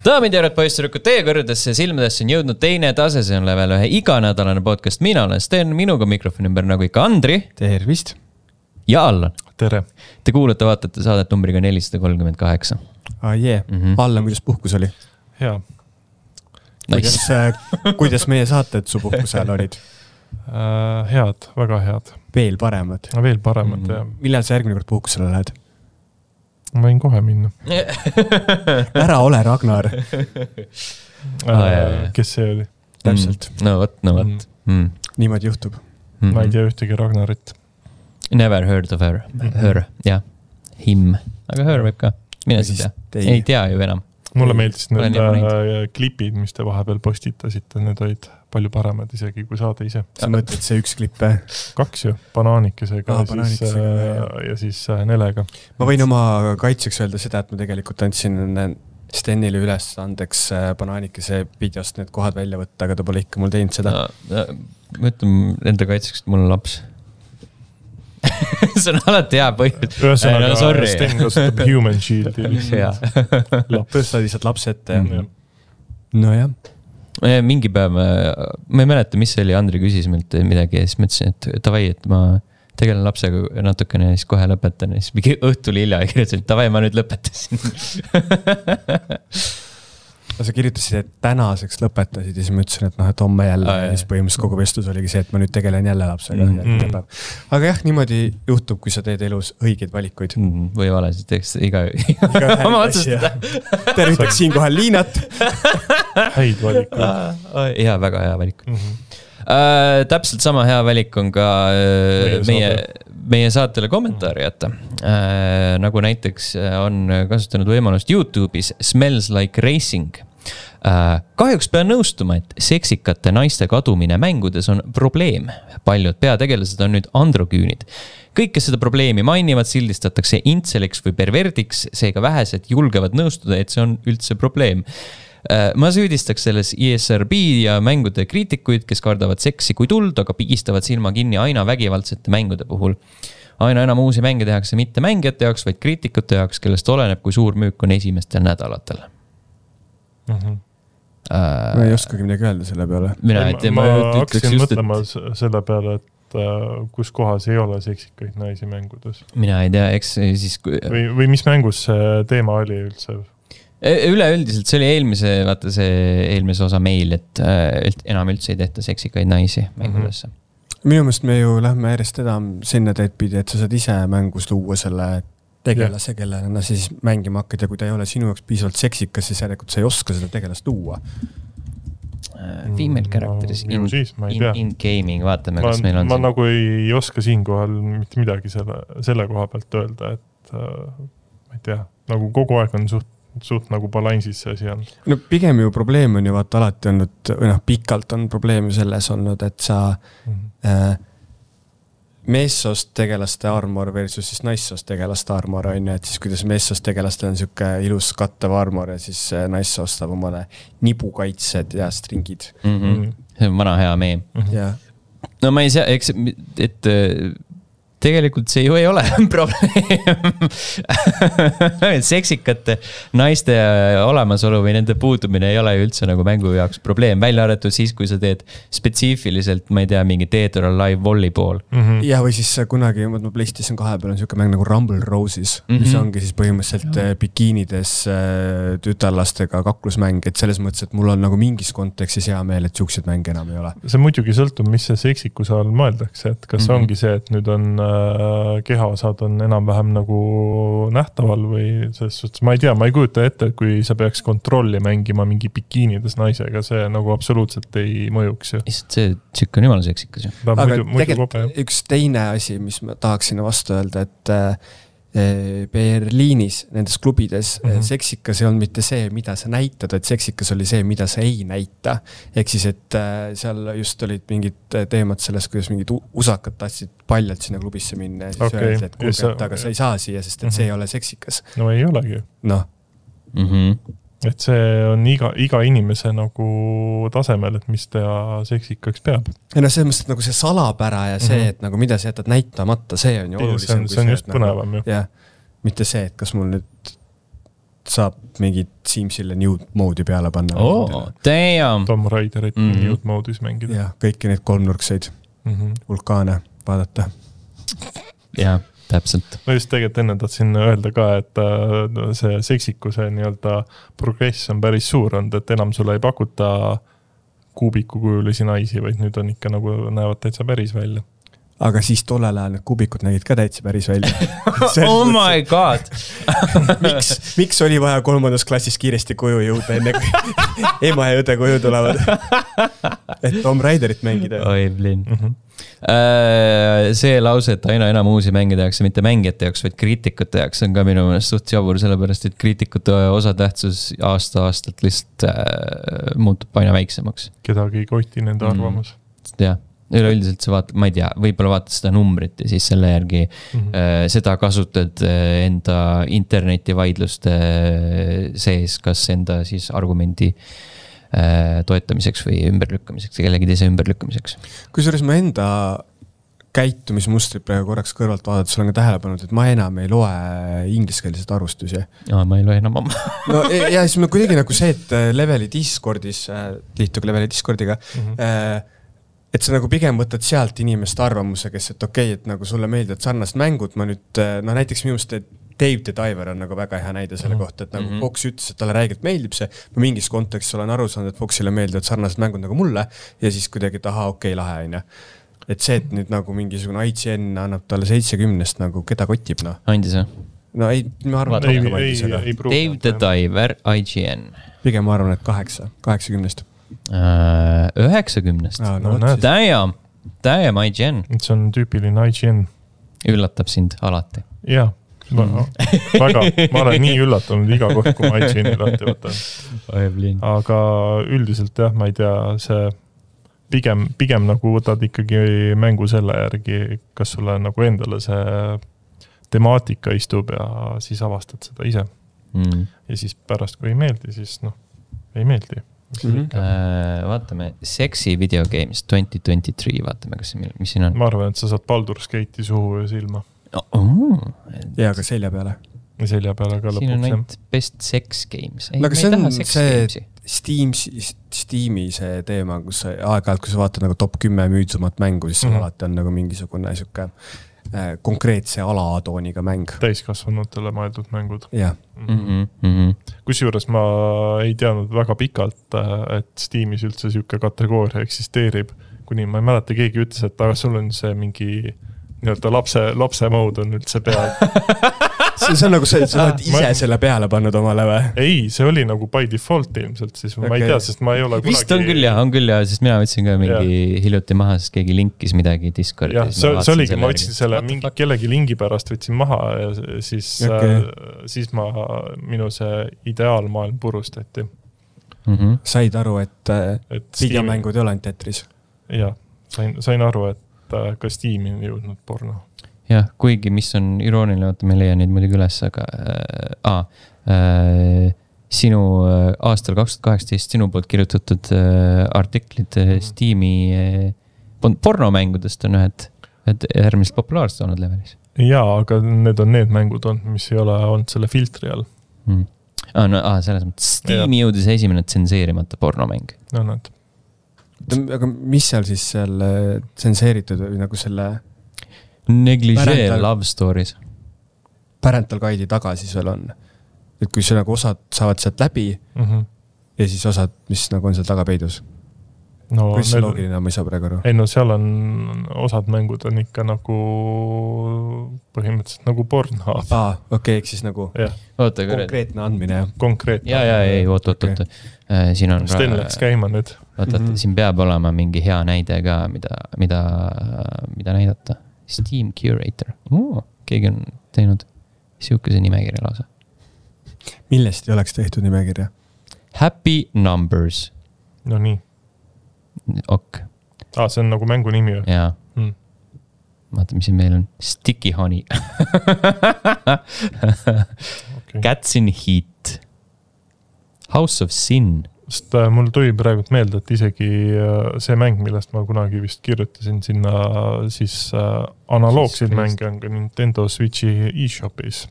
Daamid ja härrad, poisssüdrukud, teie kõrgedesse silmadesse on jõudnud teine tase, see on level 1 iganädalane podcast. Mina olen Sten, minuga mikrofoni ümber nagu ikka Andri. Tervist. Ja Allan. Tere. Te kuulate, vaatate saadet numbriga 438. Allan, kuidas puhkus oli? Hea. Nice. Kuidas meie saated su puhkusel olid? Head, väga head. Veel paremad. Veel paremad, jah. Millal sa järgmine kord puhkusele lähed? Ma võin kohe minna. Ära ole Ragnar. Kes see oli? Täpselt. No võt. Niimoodi juhtub. Ma ei tea ühtegi Ragnarit. Never heard of her. Her, jah. Him. Aga her võib ka. Mine siis tea. Ei tea ju enam. Mulle meeldis need klipid, mis te vahepeal postitasite. Need olid palju paremad isegi kui saade ise. Sa mõtled see üks klipp? 2 ju. Banaanikesega ja siis Nelega. Ma võin oma kaitseks öelda seda, et ma tegelikult andsin Stenile üles andeks Banaanikese videost need kohad välja võtta, aga ta pole ikka mul teinud seda. Ma ütlen enda kaitseks, et mul on laps. See on alati hea põhjus. Ühesõnaga, Sten kasutab Human Shieldi. Tõsta lihtsalt laps ette. No jah. Mingi päev, ma ei mäleta, mis see oli, Andri küsis meilt midagi ja siis mõtlesin, et tavai, et ma tegelen lapsega natukene ja siis kohe lõpetan ja siis mingi õhtul hilja ja kirjutasin, et tavai, ma nüüd lõpetasin. Sa kirjutasid, et tänaseks lõpetasid ja siis ma ütlesin, et homme jälle ja siis põhimõtteliselt kogu vestlus oligi see, et ma nüüd tegelen jälle lapsega. Aga jah, niimoodi juhtub, kui sa teed elus õigeid valikuid. Või valesid, eks iga oma otsustada. Tervitaks siinkohal Liinat. Häid valikuid. Hea, väga hea valik. Täpselt sama hea valik on ka meie saatele kommentaari jätta. Nagu näiteks on kasutanud võimalust YouTube'is Smells Like Racing. Kahjuks pean nõustuma, et seksikate naiste kadumine mängudes on probleem. Paljud peategelased on nüüd androküünid. Kõik, kes seda probleemi mainivad, sildistatakse intseliks või perverdiks, seega vähesed julgevad nõustuda, et see on üldse probleem. Ma süüdistaks selles ISRB ja mängude kriitikuid, kes kardavad seksi kui tuld, aga pigistavad silma kinni aina vägivaldsete mängude puhul. Aina enam uusi mänge tehakse mitte mängijate jaoks, vaid kriitikute jaoks, kellest oleneb, kui suur müük on esimestel nädalatel. Ma ei oskagi midagi öelda selle peale. Ma hakkasin mõtlema selle peale, et kus kohas ei ole seksikaid naisi mängudes. Mina ei tea, eks siis... Või mis mängus see teema oli üldse? Üleüldiselt see oli eelmise osa meil, et enam üldse ei tehta seksikaid naisi mängudesse. Minu mõelest me ju lähme järjest enam sinna teed pidi, et sa saad ise mängus luua selle tegelase, kellena siis mängima hakkad ja kui ta ei ole sinu jaoks piisavalt seksikas, siis järelikult sa ei oska seda tegelast luua. Female characters in gaming, vaatame, kas meil on ma nagu ei oska siinkohal mitte midagi selle koha pealt öelda, et ma ei tea, nagu kogu aeg on suht nagu balansis see asi on. No pigem ju probleem on ju vaata alati olnud, või pikalt on probleem ju selles olnud, et sa meessoost tegelaste armor versus siis naissoost tegelaste armor on ju, et siis kuidas meessoost tegelastel on siuke ilus kattev armor ja siis naissoost saab omale nibukaitsed ja stringid. See on vana hea meem. No ma ei saa, eks, et tegelikult see ju ei ole probleem. Seksikate naiste olemasolu või nende puudumine ei ole üldse nagu mängu jaoks probleem. Välja arvatud siis, kui sa teed spetsiifiliselt, ma ei tea, mingi Dead or Alive volleyball. Ja või siis kunagi, ma PlayStation 2 peal on siuke mäng nagu Rumble Roses, mis ongi siis põhimõtteliselt bikiinides tütarlastega kaklusmäng, et selles mõttes, et mul on nagu mingis kontekstis hea meel, et siuksed mänge enam ei ole. See muidugi sõltub, mis see seksikuse all mõeldakse, et kas ongi see, et nüüd on kehaosad on enam-vähem nagu nähtaval või selles suhtes, ma ei tea, ma ei kujuta ette, et kui sa peaks kontrolli mängima mingi bikiinides naisega, see nagu absoluutselt ei mõjuks ju. See tšikk on jumala seksikas ju. Aga tegelikult üks teine asi, mis ma tahaksin vastu öelda, et Berliinis, nendes klubides seksikas ei olnud mitte see, mida sa näitad, et seksikas oli see, mida sa ei näita. Ehk siis, et seal just olid mingid teemad selles, kuidas mingid usakad tahtsid paljalt sinna klubisse minna ja siis öeldi, et kuulge, aga sa ei saa siia, sest et see ei ole seksikas. No ei olegi. No. Et see on iga inimese nagu tasemel, et mis ta seksikaks peab. Ja selles mõttes, et nagu see salapära ja see, et nagu mida sa jätad näitamata, see on ju olulisem. See on just põnevam ju. Ja mitte see, et kas mul nüüd saab mingit Simsile nude mode'i peale panna. Damn! Tom Raiderit nude mode'is mängida. Jah, kõiki neid kolmnurkseid vulkaane vaadata. Jah, täpselt. Ma just tegelikult enne tahtsin öelda ka, et see seksikuse nii-öelda progress on päris suur olnud, et enam sulle ei pakuta kuubikukujulisi naisi, vaid nüüd on ikka nagu näevad täitsa päris välja. Aga siis tollel ajal need kubikud nägid ka täitsa päris välja. Oh my god! miks oli vaja 3. klassis kiiresti koju jõuda enne kui ema ja õde koju tulevad? Et Tom Raiderit mängida. Oi, blin. See lause, et aina enam uusi mängida jaoks ja mitte mängijate jaoks, vaid kriitikute jaoks on ka minu meelest suht jabur, sellepärast et kriitikute osatähtsus aasta-aastalt lihtsalt muutub aina väiksemaks. Kedagi ei koti nende arvamus. Jah. Üleüldiselt sa vaatad, ma ei tea, võib-olla vaatad seda numbrit ja siis selle järgi seda kasutad enda internetivaidluste sees, kas enda siis argumendi toetamiseks või ümberlükkamiseks, kellegi teise ümberlükkamiseks. Kusjuures ma enda käitumismustrit praegu korraks kõrvalt vaadates olen ka tähelepanud, et ma enam ei loe ingliskeelseid arvustusi. Ma ei loe enam oma. No ja siis ma kuidagi nagu see, et Leveli Discordis, liituge Leveli Discordiga, et sa nagu pigem võtad sealt inimeste arvamuse, kes, et okei, et nagu sulle meeldivad sarnased mängud, ma nüüd, no näiteks minust Dave the Diver on nagu väga hea näide selle kohta, et nagu Fox ütles, et talle räigelt meeldib see, ma mingis kontekstis olen aru saanud, et Foxile meeldivad sarnased mängud nagu mulle ja siis kuidagi, et okei, lahe on ja. Et see, et nüüd nagu mingisugune IGN annab talle 70-st nagu keda kotib, noh. Andis või? No ei, ma arvan, et rohkem andis, aga Dave the Diver, IGN. Pigem ma arvan, et 80-st. 90-st. Damn IGN. See on tüüpiline IGN. Üllatab sind alati. Jah, väga. Ma olen nii üllatunud iga kord, kui ma IGN lahti võtan. Aga üldiselt jah, ma ei tea, see pigem nagu võtad ikkagi mängu selle järgi, kas sulle nagu endale see temaatika istub ja siis avastad seda ise. Ja siis pärast, kui ei meeldi, siis ei meeldi. Vaatame Sexy Video Games 2023, vaatame, mis siin on. Ma arvan, et sa saad Baldur's Gate'i suhu ja silma. Ja ka selja peale. Selja peale ka lõpuks. Siin on ainult Best Sex Games. Aga see on see Steam'i see teema, kus aeg-ajalt, kui sa vaatad nagu top 10 müüdsumat mängu, siis seal alati on nagu mingisugune siuke konkreetse alatooniga mäng. Täiskasvanutele mõeldud mängud. Jah. Kusjuures ma ei teadnud väga pikalt, et Steamis üldse siuke kategooria eksisteerib, kuni ma ei mäleta, keegi ütles, et aga sul on see mingi nii-öelda lapse mood on üldse peal. See on nagu see, et sa oled ise selle peale pannud omale või? Ei, see oli nagu by default ilmselt, siis ma ei tea, sest ma ei ole kunagi... Vist on küll jah, sest mina võtsin ka mingi hiljuti maha, sest keegi linkis midagi Discordi. Jah, see oligi, ma võtsin selle kellegi lingi pärast võtsin maha ja siis minu see ideaalmaailm purustati. Said aru, et videomängud ei ole ainult Tetris? Jah, sain aru, et ka Steam'i on jõudnud porno. Jah, kuigi mis on irooniline, vaata, me leian neid muidugi üles, aga sinu aastal 2018 sinu poolt kirjutatud artiklid Steam'i pornomängudest on ühed äärmiselt populaarsed olnud Levelis. Jaa, aga need on need mängud on, mis ei ole olnud selle filtri all. Selles mõttes Steam'i jõudis esimene tsenseerimata pornomäng. No nad. Aga mis seal siis seal tsenseeritud või nagu selle negligee love stories parental guide'i taga siis veel on, et kui see nagu osad saavad sealt läbi ja siis osad, mis nagu on seal taga peidus kui see loogiline, ma ei saa praegu aru. Ei no seal on osad mängud on ikka nagu põhimõtteliselt nagu porno. Okei, eks siis nagu konkreetne andmine. Konkreetne. Oot. Siin on Sten läks käima nüüd. Siin peab olema mingi hea näide ka, mida näidata. Steam Curator. Keegi on teinud siukese nimekirja lausa. Millest ei oleks tehtud nimekirja? Happy Numbers. No nii. Ok. See on nagu mängu nimi või? Jaa. Vaata, mis siin meil on. Sticky Honey. Cats in Heat. House of Sin. Sest mul tuli praegu meelde, et isegi see mäng, millest ma kunagi vist kirjutasin sinna siis analoogseid mänge on ka Nintendo Switchi eShopis.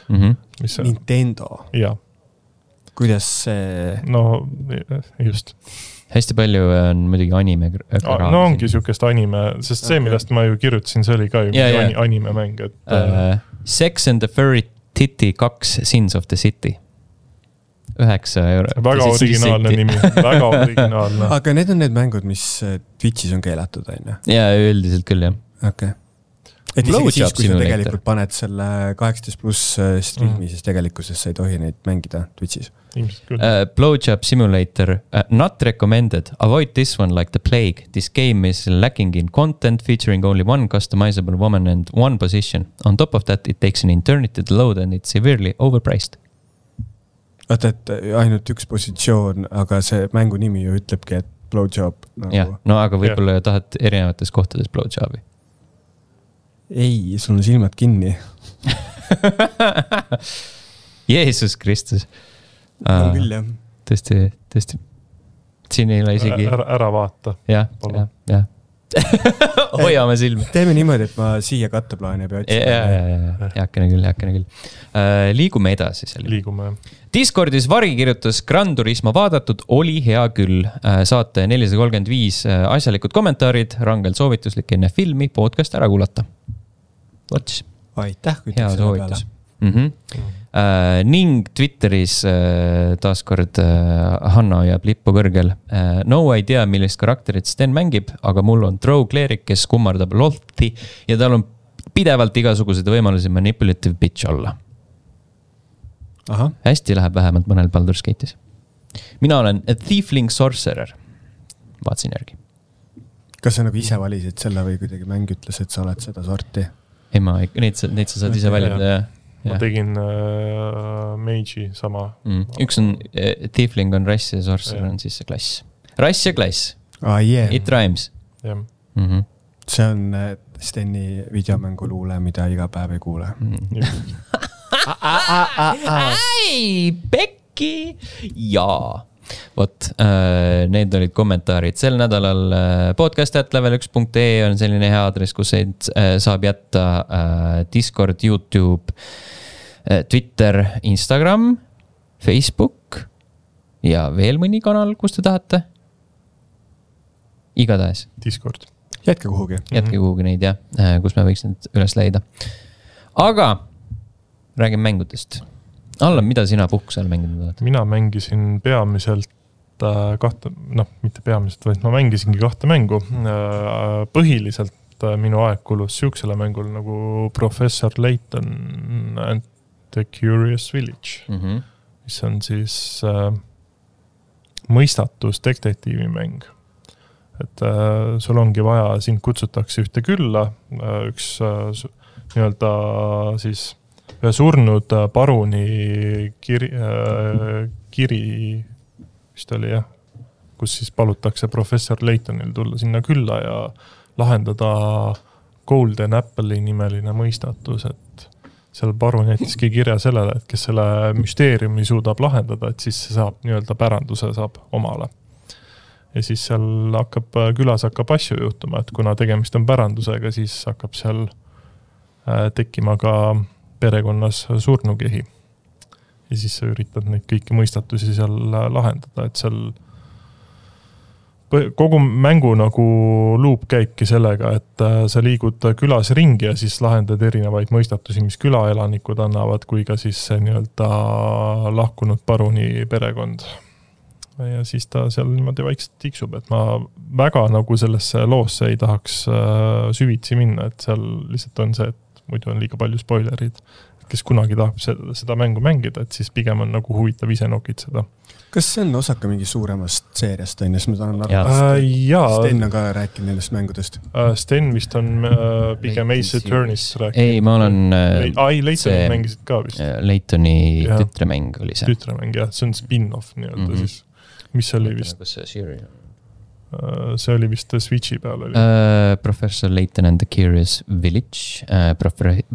Nintendo? Jah, kuidas see... No just. Hästi palju on muidugi anime. No ongi siukest anime, sest see, millest ma ju kirjutasin, see oli ka ju anime mäng. Et... Sex and the Furry Titty 2 Sins of the City. 9 €. Väga originaalne nimi, väga originaalne. Aga need on need mängud, mis Twitchis on keelatud, on ju? Jaa, üldiselt küll, jah. Okei. Et isegi siis, kui sa tegelikult paned selle 18+ streami, siis tegelikkuses sa ei tohi neid mängida Twitchis. Blowjob Simulator, not recommended. Avoid this one like the plague. This game is lacking in content, featuring only one customizable woman and one position. On top of that, it takes an eternity to load and it's severely overpriced. Vaata, et ainult üks positsioon, aga see mängu nimi ju ütlebki, et blowjob. Nagu... Jah, no aga võib-olla tahad erinevates kohtades blowjobi. Ei, sul on silmad kinni. Jeesus Kristus. No küll, jah. Tõesti. Siin ei ole isegi... Ära vaata. Jah. Hoiame silmi. Teeme niimoodi, et ma siia katteplaani pea otsima. Jääkene küll. Liigume edasi. Liigume. Discordis Vari kirjutas Gran Turismo vaadatud, oli hea küll. Saate 435 asjalikud kommentaarid, rangelt soovituslik enne filmi podcast ära kuulata. Watch. Aitäh, kui hea soovitus. Ning Twitteris taaskord Hanna jääb lippu kõrgel. No idea, millist karakterit Sten mängib, aga mul on Drow Cleric, kes kummardab lolti ja tal on pidevalt igasuguseid võimalusi manipulative bitch olla. Aha. Hästi läheb vähemalt mõnel Baldur's Gate'is. Mina olen a Thiefling Sorcerer. Vaatsin järgi. Kas sa nagu ise valisid selle või kuidagi mäng ütles, et sa oled seda sorti? Ei, neid sa saad ise valida. Ma tegin Mage'i sama. Üks on Thiefling on rass ja Sorcerer on siis see klass. Rass ja klass. It rhymes. See on Steni videomänguluule, mida iga päev ei kuule. Ai, Pekki! Jaa. Vot, need olid kommentaarid. Sel nädalal podcast@level1.ee on selline hea aadress, kus saab jätta Discord, YouTube, Twitter, Instagram, Facebook ja veel mõni kanal, kus te tahate. Igatahes. Discord. Jätke kuhugi. Jätke kuhugi neid, jah, kus me võiks need üles leida. Aga räägime mängudest. Allan, mida sina puhkusel mänginud oled? Mina mängisin peamiselt mitte peamiselt, vaid ma mängisingi 2 mängu. Põhiliselt minu aeg kulus siuksele mängul nagu Professor Layton and the Curious Village, mis on siis mõistatus detektiivi mäng. Et sul ongi vaja, sind kutsutakse ühte külla, üks nii-öelda siis ühe surnud paruni kiri vist oli, jah, kus siis palutakse professor Laytonil tulla sinna külla ja lahendada Golden Apple'i nimeline mõistatus, et seal parun jättiski kirja sellele, et kes selle müsteeriumi suudab lahendada, et siis see saab nii-öelda päranduse saab omale. Ja siis seal külas hakkab asju juhtuma, et kuna tegemist on pärandusega, siis hakkab seal tekkima ka perekonnas surnukehi. Ja siis sa üritad neid kõiki mõistatusi seal lahendada, et seal kogu mängu nagu luup käibki sellega, et sa liigud külas ringi ja siis lahendad erinevaid mõistatusi, mis külaelanikud annavad, kui ka siis see nii-öelda lahkunud paruni perekond. Ja siis ta seal niimoodi vaikselt tiksub, et ma väga nagu sellesse loosse ei tahaks süvitsi minna, et seal lihtsalt on see, et muidu on liiga palju spoilerid, kes kunagi tahab seda mängu mängida, et siis pigem on nagu huvitav ise nokitseda. Kas see on osaka mingi suuremast seeriast, on, siis ma tahan Sten on ka rääkinud nendest mängudest. Sten vist on pigem Ace Attorney'st rääkinud. Ei, ma olen... Laytoni mängisid ka vist. Laytoni tütremäng oli see. Tütremäng, jah. See on spin-off nii-öelda siis. Mis oli vist... See oli vist Switchi peal oli. Professor Layton and the Curious Village,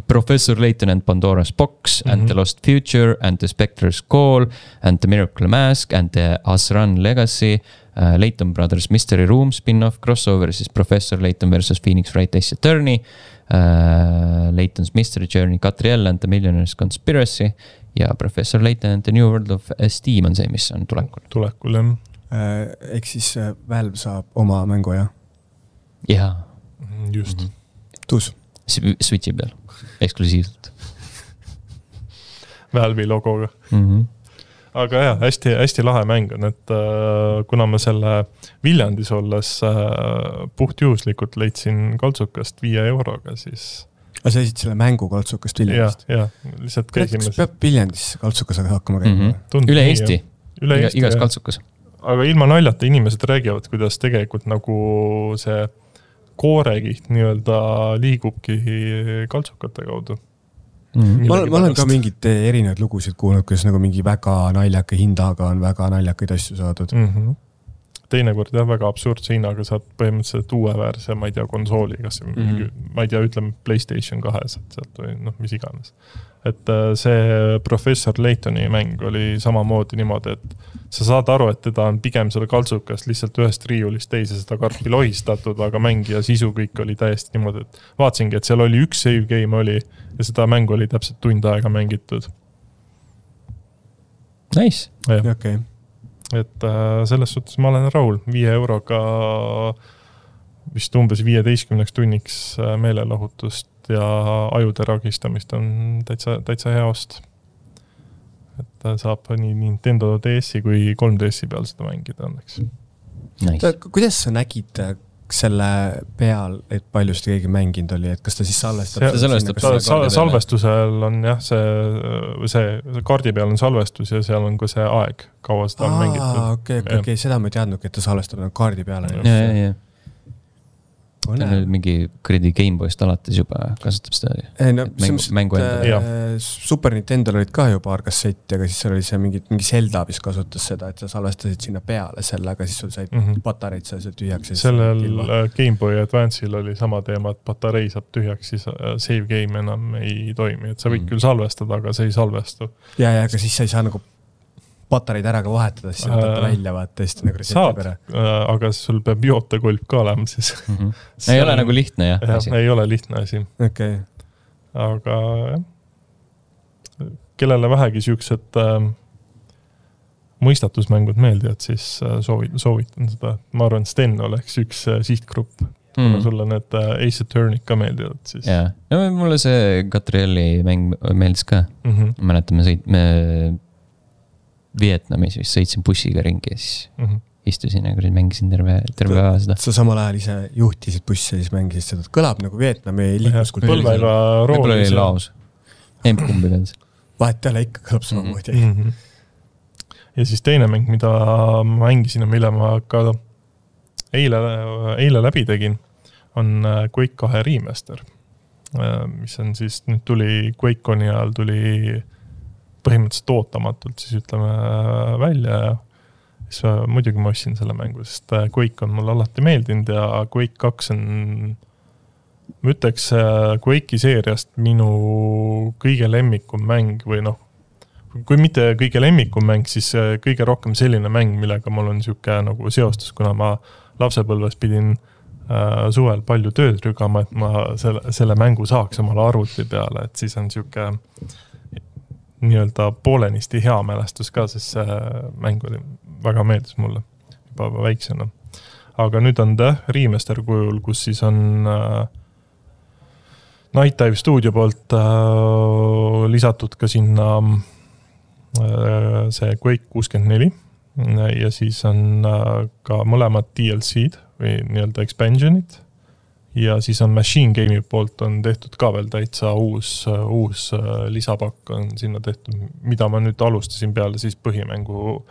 Professor Layton and Pandora's Box, and The Lost Future, and The Spectre's Call, and The Miracle Mask, and The Asran Legacy, Layton Brothers Mystery Room spin-off, crossover siis Professor Layton versus Phoenix Wright Ace Attorney, Layton's Mystery Journey, Catriel and the Millionaire's Conspiracy ja Professor Layton and the New World of Steam on see, mis on tulekul. Tulekul, jah. Ehk siis Valve saab oma mängu, jah? Jaa. Just. Tuus. Switchi peal, eksklusiivselt. Valve'i logoga. Aga jah, hästi lahe mäng on, et kuna ma selle Viljandis olles puhtjuhuslikult leidsin kaltsukast 5 euroga, siis... Aga sa esid selle mängu kaltsukast Viljandist? Jah, lihtsalt käisime... Kas peab Viljandis kaltsukas hakkama käima? Üle Eesti, igas kaltsukas. Aga ilma naljata inimesed räägivad, kuidas tegelikult nagu see koorekiht nii-öelda liigubki kaltsukate kaudu. Ma olen ka mingid erinevad lugusid kuulnud, kus nagu mingi väga naljaka hindaga on väga naljakaid asju saadud. Teinekord väga absurdse hinnaga saad põhimõtteliselt uue väärse, ma ei tea, konsooli, kas ma ei tea, ütleme PlayStation 2 sealt või mis iganes. Et see Professor Laytoni mäng oli samamoodi niimoodi, et sa saad aru, et teda on pigem selle kaltsukast lihtsalt ühest riiulist teise seda karpi lohistatud, aga mängija sisu kõik oli täiesti niimoodi, et vaatsingi, et seal oli üks save game oli ja seda mängu oli täpselt tund aega mängitud. Nice. Okay. Et selles suhtes ma olen rahul. 5 euroga vist umbes 15 tunniks meelelahutust ja ajude ragistamist on täitsa hea ost. Et saab nii Nintendo DS-i kui 3DS-i peal seda mängida õnneks. Nice. Kuidas sa nägid selle peal, et palju seda keegi mänginud oli, et kas ta siis salvestab? Salvestusel on jah, see kaardi peal on salvestus ja seal on ka see aeg, kaua seda on mängitud. Okei, seda ma ei teadnud, et ta salvestab kaardi peale. Ja. Ta on mingi kuradi Gameboyst alates juba kasutab seda mängu endale. Super Nintendo olid ka juba paar kasseti, aga siis seal oli see mingi Zelda, mis kasutas seda, et sa salvestasid sinna peale selle, aga siis sul said patareid seal tühjaks. Sellel Gameboy Advance'il oli sama teema, et patarei saab tühjaks, siis save game enam ei toimi. Et sa võid küll salvestada, aga see ei salvestu. Ja, aga siis sa ei saa nagu patareid ära ka vahetada, siis võtta välja vaata hästi nagu saad, aga sul peab jootekolb ka olema siis. Ei ole nagu lihtne, jah? Ei ole lihtne asi. Okay. Aga kellele vähegi siuksed mõistatusmängud meeldivad, siis soovitan seda. Ma arvan, Sten oleks üks sihtgrupp. Kuna sulle need Ace Attorney ka meeldivad. Siis. Ja. No, mulle see Catrielli mäng meeldis ka. Mäletame, me Vietnamis vist sõitsin bussiga ringi ja siis istusin ja mängisin terve aja seda. Sa samal ajal ise juhtisid bussi ja siis mängisid seda. Kõlab nagu Vietnami liikluskultuuri. Põlvega rooli. Võib-olla oli laos. Emp-kumbi peal. Vahet jälle ikka kõlab samamoodi. Ja siis teine mäng, mida ma mängisin ja mille ma ka eile läbi tegin, on Quake 2 remaster. Mis on siis, nüüd tuli QuakeConi ajal tuli põhimõtteliselt ootamatult siis ütleme välja ja siis muidugi ma ostsin selle mängu, sest Quake on mulle alati meeldinud ja Quake 2 on, ma ütleks Quake'i seeriast minu kõige lemmikum mäng või kui mitte kõige lemmikum mäng, siis kõige rohkem selline mäng, millega mul on siuke nagu seostus, kuna ma lapsepõlves pidin suvel palju tööd rügama, et ma selle mängu saaks omale arvuti peale, et siis on siuke nii-öelda poolenisti hea mälestus ka, sest see mäng oli väga meeldis mulle juba väiksena. Aga nüüd on ta remaster kujul, kus siis on Night Dive Studio poolt lisatud ka sinna see Quake 64 ja siis on ka mõlemad DLC-d või nii-öelda expansionid. Ja siis on Machine Game'i poolt on tehtud ka veel täitsa uus lisapakk on sinna tehtud, mida ma nüüd alustasin peale siis põhimängu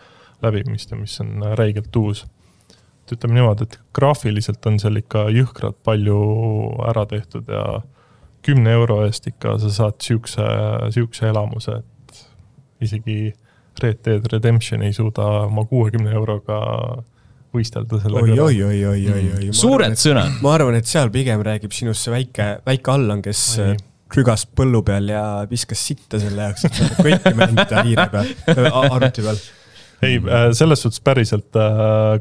läbimist, mis on räigelt uus. Ütleme niimoodi, et graafiliselt on seal ikka jõhkrad palju ära tehtud ja 10 euro eest ikka sa saad siukse elamuse, et isegi Red Dead Redemption ei suuda oma 60 euroga võistelda selle Oi. Suured sõnad. Ma arvan, et seal pigem räägib sinust see väike Allan, kes rügas põllu peal ja viskas sitta selle jaoks, et saada kõiki mängida hiire peal, arvuti peal. Ei, selles suhtes päriselt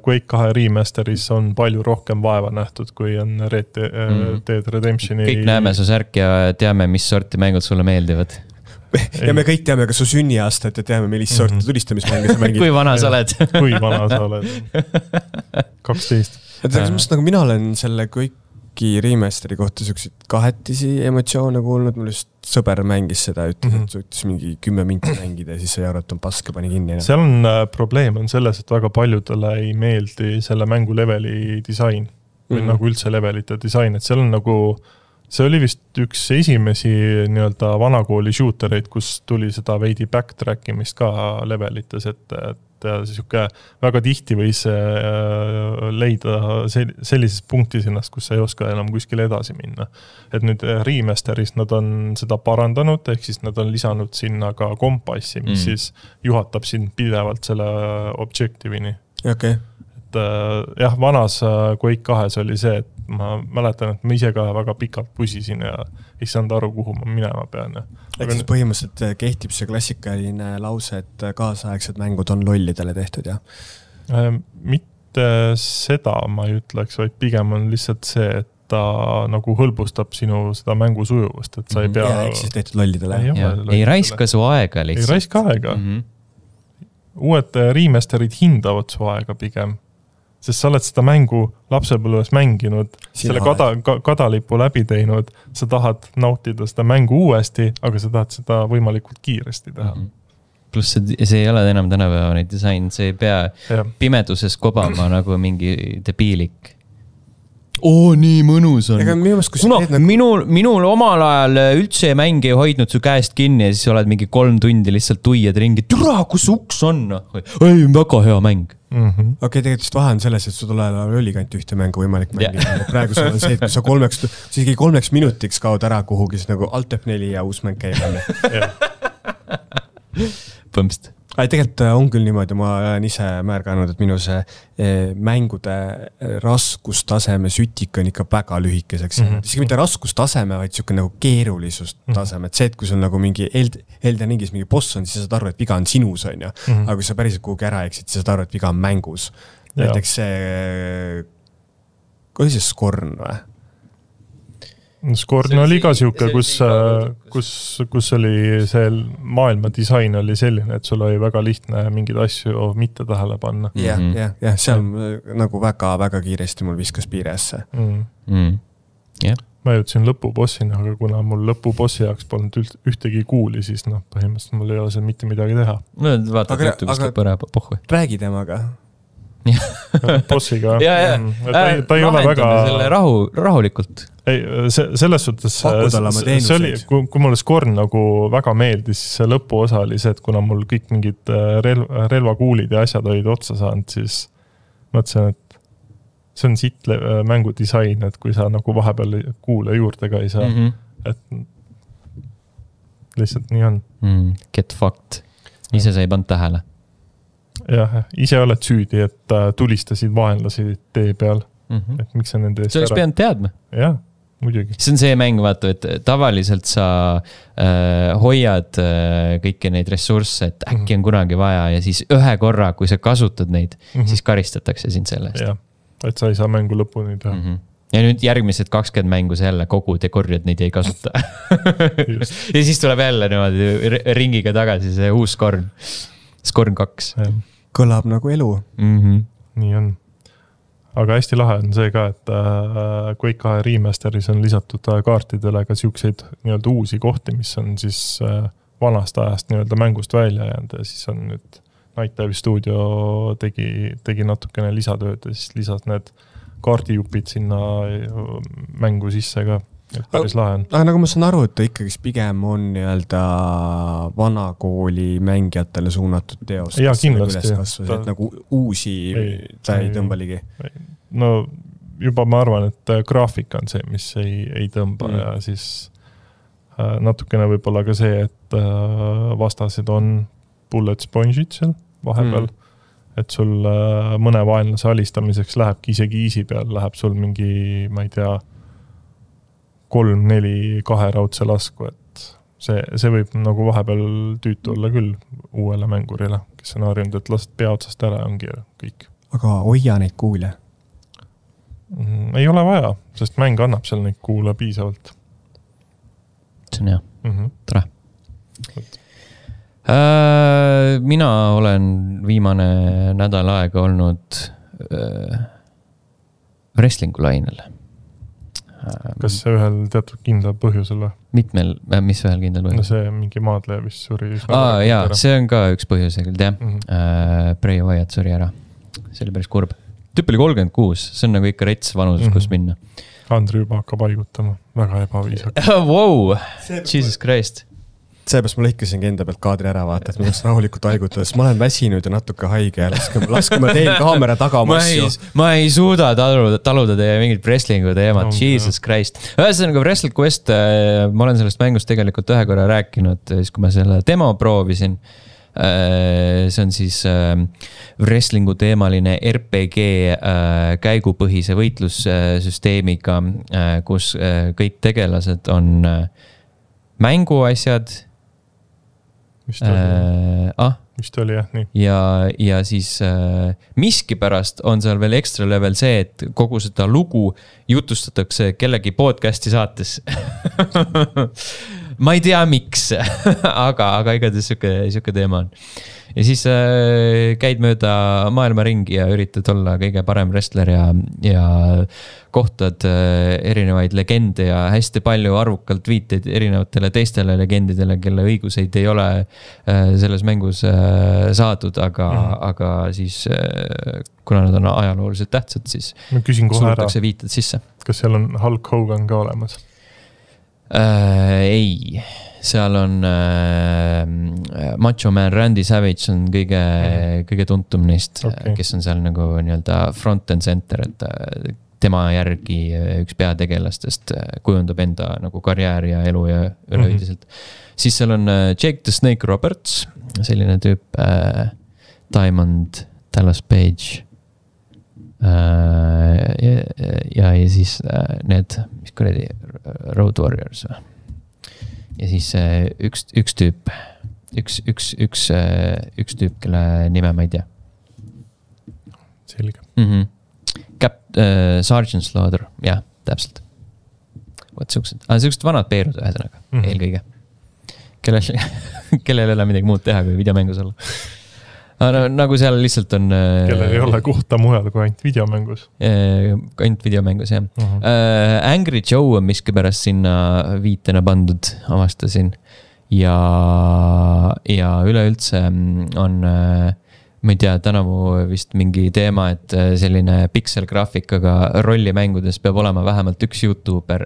Quake 2 remasteris on palju rohkem vaeva nähtud, kui on Red Dead Redemptioni. Kõik näeme su särk ja teame, mis sorti mängud sulle meeldivad. ja me kõik teame ka su sünniaastat ja teame, millist sorti tulistamismänge sa mängid. Kui vana sa oled? Kui vana sa oled? 12. Nagu mina olen selle kõiki remasteri kohta selliseid kahetisi emotsioone kuulnud, mul just sõber mängis seda, ütles, et suutis mingi 10 minti mängida ja siis sai aru, et on paske, pani kinni. Seal on probleem on selles, et väga paljudele ei meeldi selle mängu leveli disain või nagu üldse levelite disain, et seal on nagu see oli vist üks esimesi nii-öelda vanakooli shootereid, kus tuli seda veidi backtrackimist ka levelites, et siuke väga tihti võis leida sellises punktis ennast, kus sa ei oska enam kuskile edasi minna. Et nüüd remasteris nad on seda parandanud, ehk siis nad on lisanud sinna ka kompassi, mis siis juhatab sind pidevalt selle objectivini. Okay. Et jah, vanas Quake 2 oli see, et ma mäletan, et ma ise ka väga pikalt pusisin ja ei saanud aru, kuhu ma minema pean. Ehk siis põhimõtteliselt kehtib see klassikaline lause, et kaasaegsed mängud on lollidele tehtud, jah? Mitte seda ma ei ütleks, vaid pigem on lihtsalt see, et ta nagu hõlbustab sinu seda mängu sujuvust, et sa ei pea... Ja, ehk siis tehtud lollidele. Ei raiska su aega lihtsalt. Ei raiska aega. Uued remasterid hindavad su aega pigem. Sest sa oled seda mängu lapsepõlves mänginud, selle kadalipu läbi teinud, sa tahad nautida seda mängu uuesti, aga sa tahad seda võimalikult kiiresti teha. Pluss see ei ole enam tänapäevane disain, see ei pea pimeduses kobama nagu mingi debiilik. Nii mõnus on. Minul omal ajal üldse mäng ei hoidnud su käest kinni ja siis oled mingi 3 tundi lihtsalt tuied ringi. Türa, kus uks on? Ei, väga hea mäng. Okei, tegelikult vahe on selles, et su tule oli kant ühte mängu võimalik mängida. Praegu sul on see, et kui sa 3 minutiks kaod ära kuhugi, siis nagu Alt F4 ja uus mäng käib. Põmst. Tegelikult on küll niimoodi, ma olen ise märganud, et minu see mängude raskustaseme sütik on ikka väga lühikeseks. Isegi mitte raskustaseme, vaid siuke nagu keerulisust taseme. Et see, et kui sul nagu mingi Elden Ringis mingi boss on, siis sa saad aru, et viga on sinus, on ju. Aga kui sa päriselt kuhugi ära eksid, siis saad aru, et viga on mängus. Näiteks see... Kui see Scorn või? Scorn oli ka siuke, kus oli see maailma disain oli selline, et sul oli väga lihtne mingid asju mitte tähele panna. Jah, seal nagu väga kiiresti mul viskas piiresse. Ma jõudsin lõpubossina, aga kuna mul lõpubossi jaoks polnud ühtegi kuuli, siis põhimõtteliselt mul ei ole seal mitte midagi teha. No vaatad YouTube'ist lõpp ära pohhu. Räägi temaga. Bossiga. Ta ei ole väga... Selle rahulikult. Ei, selles suhtes see oli, kui mulle Scorn nagu väga meeldis, siis see lõpuosa oli see, et kuna mul kõik mingid relvakuulid ja asjad olid otsa saanud, siis mõtlesin, et see on siit mängu disain, et kui sa nagu vahepeal kuule juurde ka ei saa, et lihtsalt nii on. Get fucked. Ise sa ei pannud tähele. Jah, ise oled süüdi, et tulistasid vaenlasi tee peal. Et miks sa nende eest ära... See oleks peanud teadma. Jah, muidugi. See on see mäng, vaata, et tavaliselt sa hoiad kõiki neid ressursse, et äkki on kunagi vaja ja siis ühe korra, kui sa kasutad neid, siis karistatakse sind selle eest. Jah, et sa ei saa mängu lõpuni teha. Ja nüüd järgmised 20 mängu sa jälle kogud ja korjad neid ei kasuta. Ja siis tuleb jälle niimoodi ringiga tagasi see uus Scorn 2. Kõlab nagu elu. Nii on. Aga hästi lahe on see ka, et Quake 2 remasteris on lisatud kaartidele ka siukseid nii-öelda uusi kohti, mis on siis vanast ajast nii-öelda mängust välja jäänud ja siis on nüüd Night Dive Studio tegi natukene lisatööd ja siis lisas need kaardijupid sinna mängu sisse ka. Päris lahe on. Aga nagu ma saan aru, et ta ikkagi pigem on nii-öelda vanakooli mängijatele suunatud teost. Ja kindlasti. Et nagu uusi ta ei tõmba ligi. No juba ma arvan, et graafika on see, mis ei tõmba ja siis natukene võib-olla ka see, et vastased on bullet sponge'id seal vahepeal. Et sul mõne vaenlase alistamiseks lähebki isegi easy peal, läheb sul mingi, ma ei tea, 3-4 2-raudse lasku, et see võib nagu vahepeal tüütu olla küll uuele mängurile, kes on harjunud, et lased pea otsast ära ongi kõik. Aga hoia neid kuule? Ei ole vaja, sest mäng annab seal neid kuule piisavalt. See on hea. Tere. Mina olen viimane nädal aega olnud wrestlingu lainel. Kas see ühel teatud kindlal põhjusel või? Mitmel, mis ühel kindlal põhjusel? No see mingi maadleja vist suri. Jaa, see on ka üks põhjus, jah. Bray Wyatt suri ära. See oli päris kurb. Tüüp oli 36, see on nagu ikka rets vanuses, kus minna. Andri juba hakkab haigutama, väga ebaviisak. Wow, Jesus Christ. Seepärast ma lõikasingi enda pealt kaadri ära, vaata, et ma saaks rahulikult haigutada, sest ma olen väsinud ja natuke haige ja laske ma teen kaamera taga oma asju. Ma ei suuda taluda teie mingit wrestlingu teemat, Jesus Christ. Ühesõnaga Wrestle Quest, ma olen sellest mängust tegelikult ühe korra rääkinud, siis kui ma selle demo proovisin. See on siis wrestlingu teemaline RPG käigupõhise võitlussüsteemiga, kus kõik tegelased on mänguasjad. Vist oli jah, nii. Ja siis miski pärast on seal veel ekstra level see, et kogu seda lugu jutustatakse kellegi podcasti saates. Ma ei tea, miks, aga igatahes siuke teema on. Ja siis käid mööda maailma ringi ja üritad olla kõige parem wrestler ja kohtad erinevaid legende ja hästi palju arvukalt viiteid erinevatele teistele legendidele, kelle õiguseid ei ole selles mängus saadud, aga siis kuna nad on ajalooliselt tähtsad, siis suudetakse viited sisse. Kas seal on Hulk Hogan ka olemas? Ei, seal on Macho Man Randy Savage on kõige tuntum neist, kes on seal nagu nii-öelda front and center, et tema järgi üks peategelastest kujundab enda nagu karjääri ja elu ja üleüldiselt. Siis seal on Jake the Snake Roberts, selline tüüp, Diamond Dallas Page ja siis need, mis kuradi Road Warriors või? Ja siis üks tüüp, kelle nime ma ei tea. Selge. Sergeant Slaughter, jah, täpselt. Võt siuksed vanad peerud ühesõnaga, eelkõige. Kellel ei ole midagi muud teha, kui videomängus olla. Nagu seal lihtsalt on kellel ei ole kohta mujal kui ainult videomängus. Ainult videomängus, jah. Angry Joe on miski pärast sinna viitena pandud, avastasin. Ja üleüldse on, ma ei tea, tänavu vist mingi teema, et selline pixel-graafikaga rollimängudes peab olema vähemalt üks YouTuber.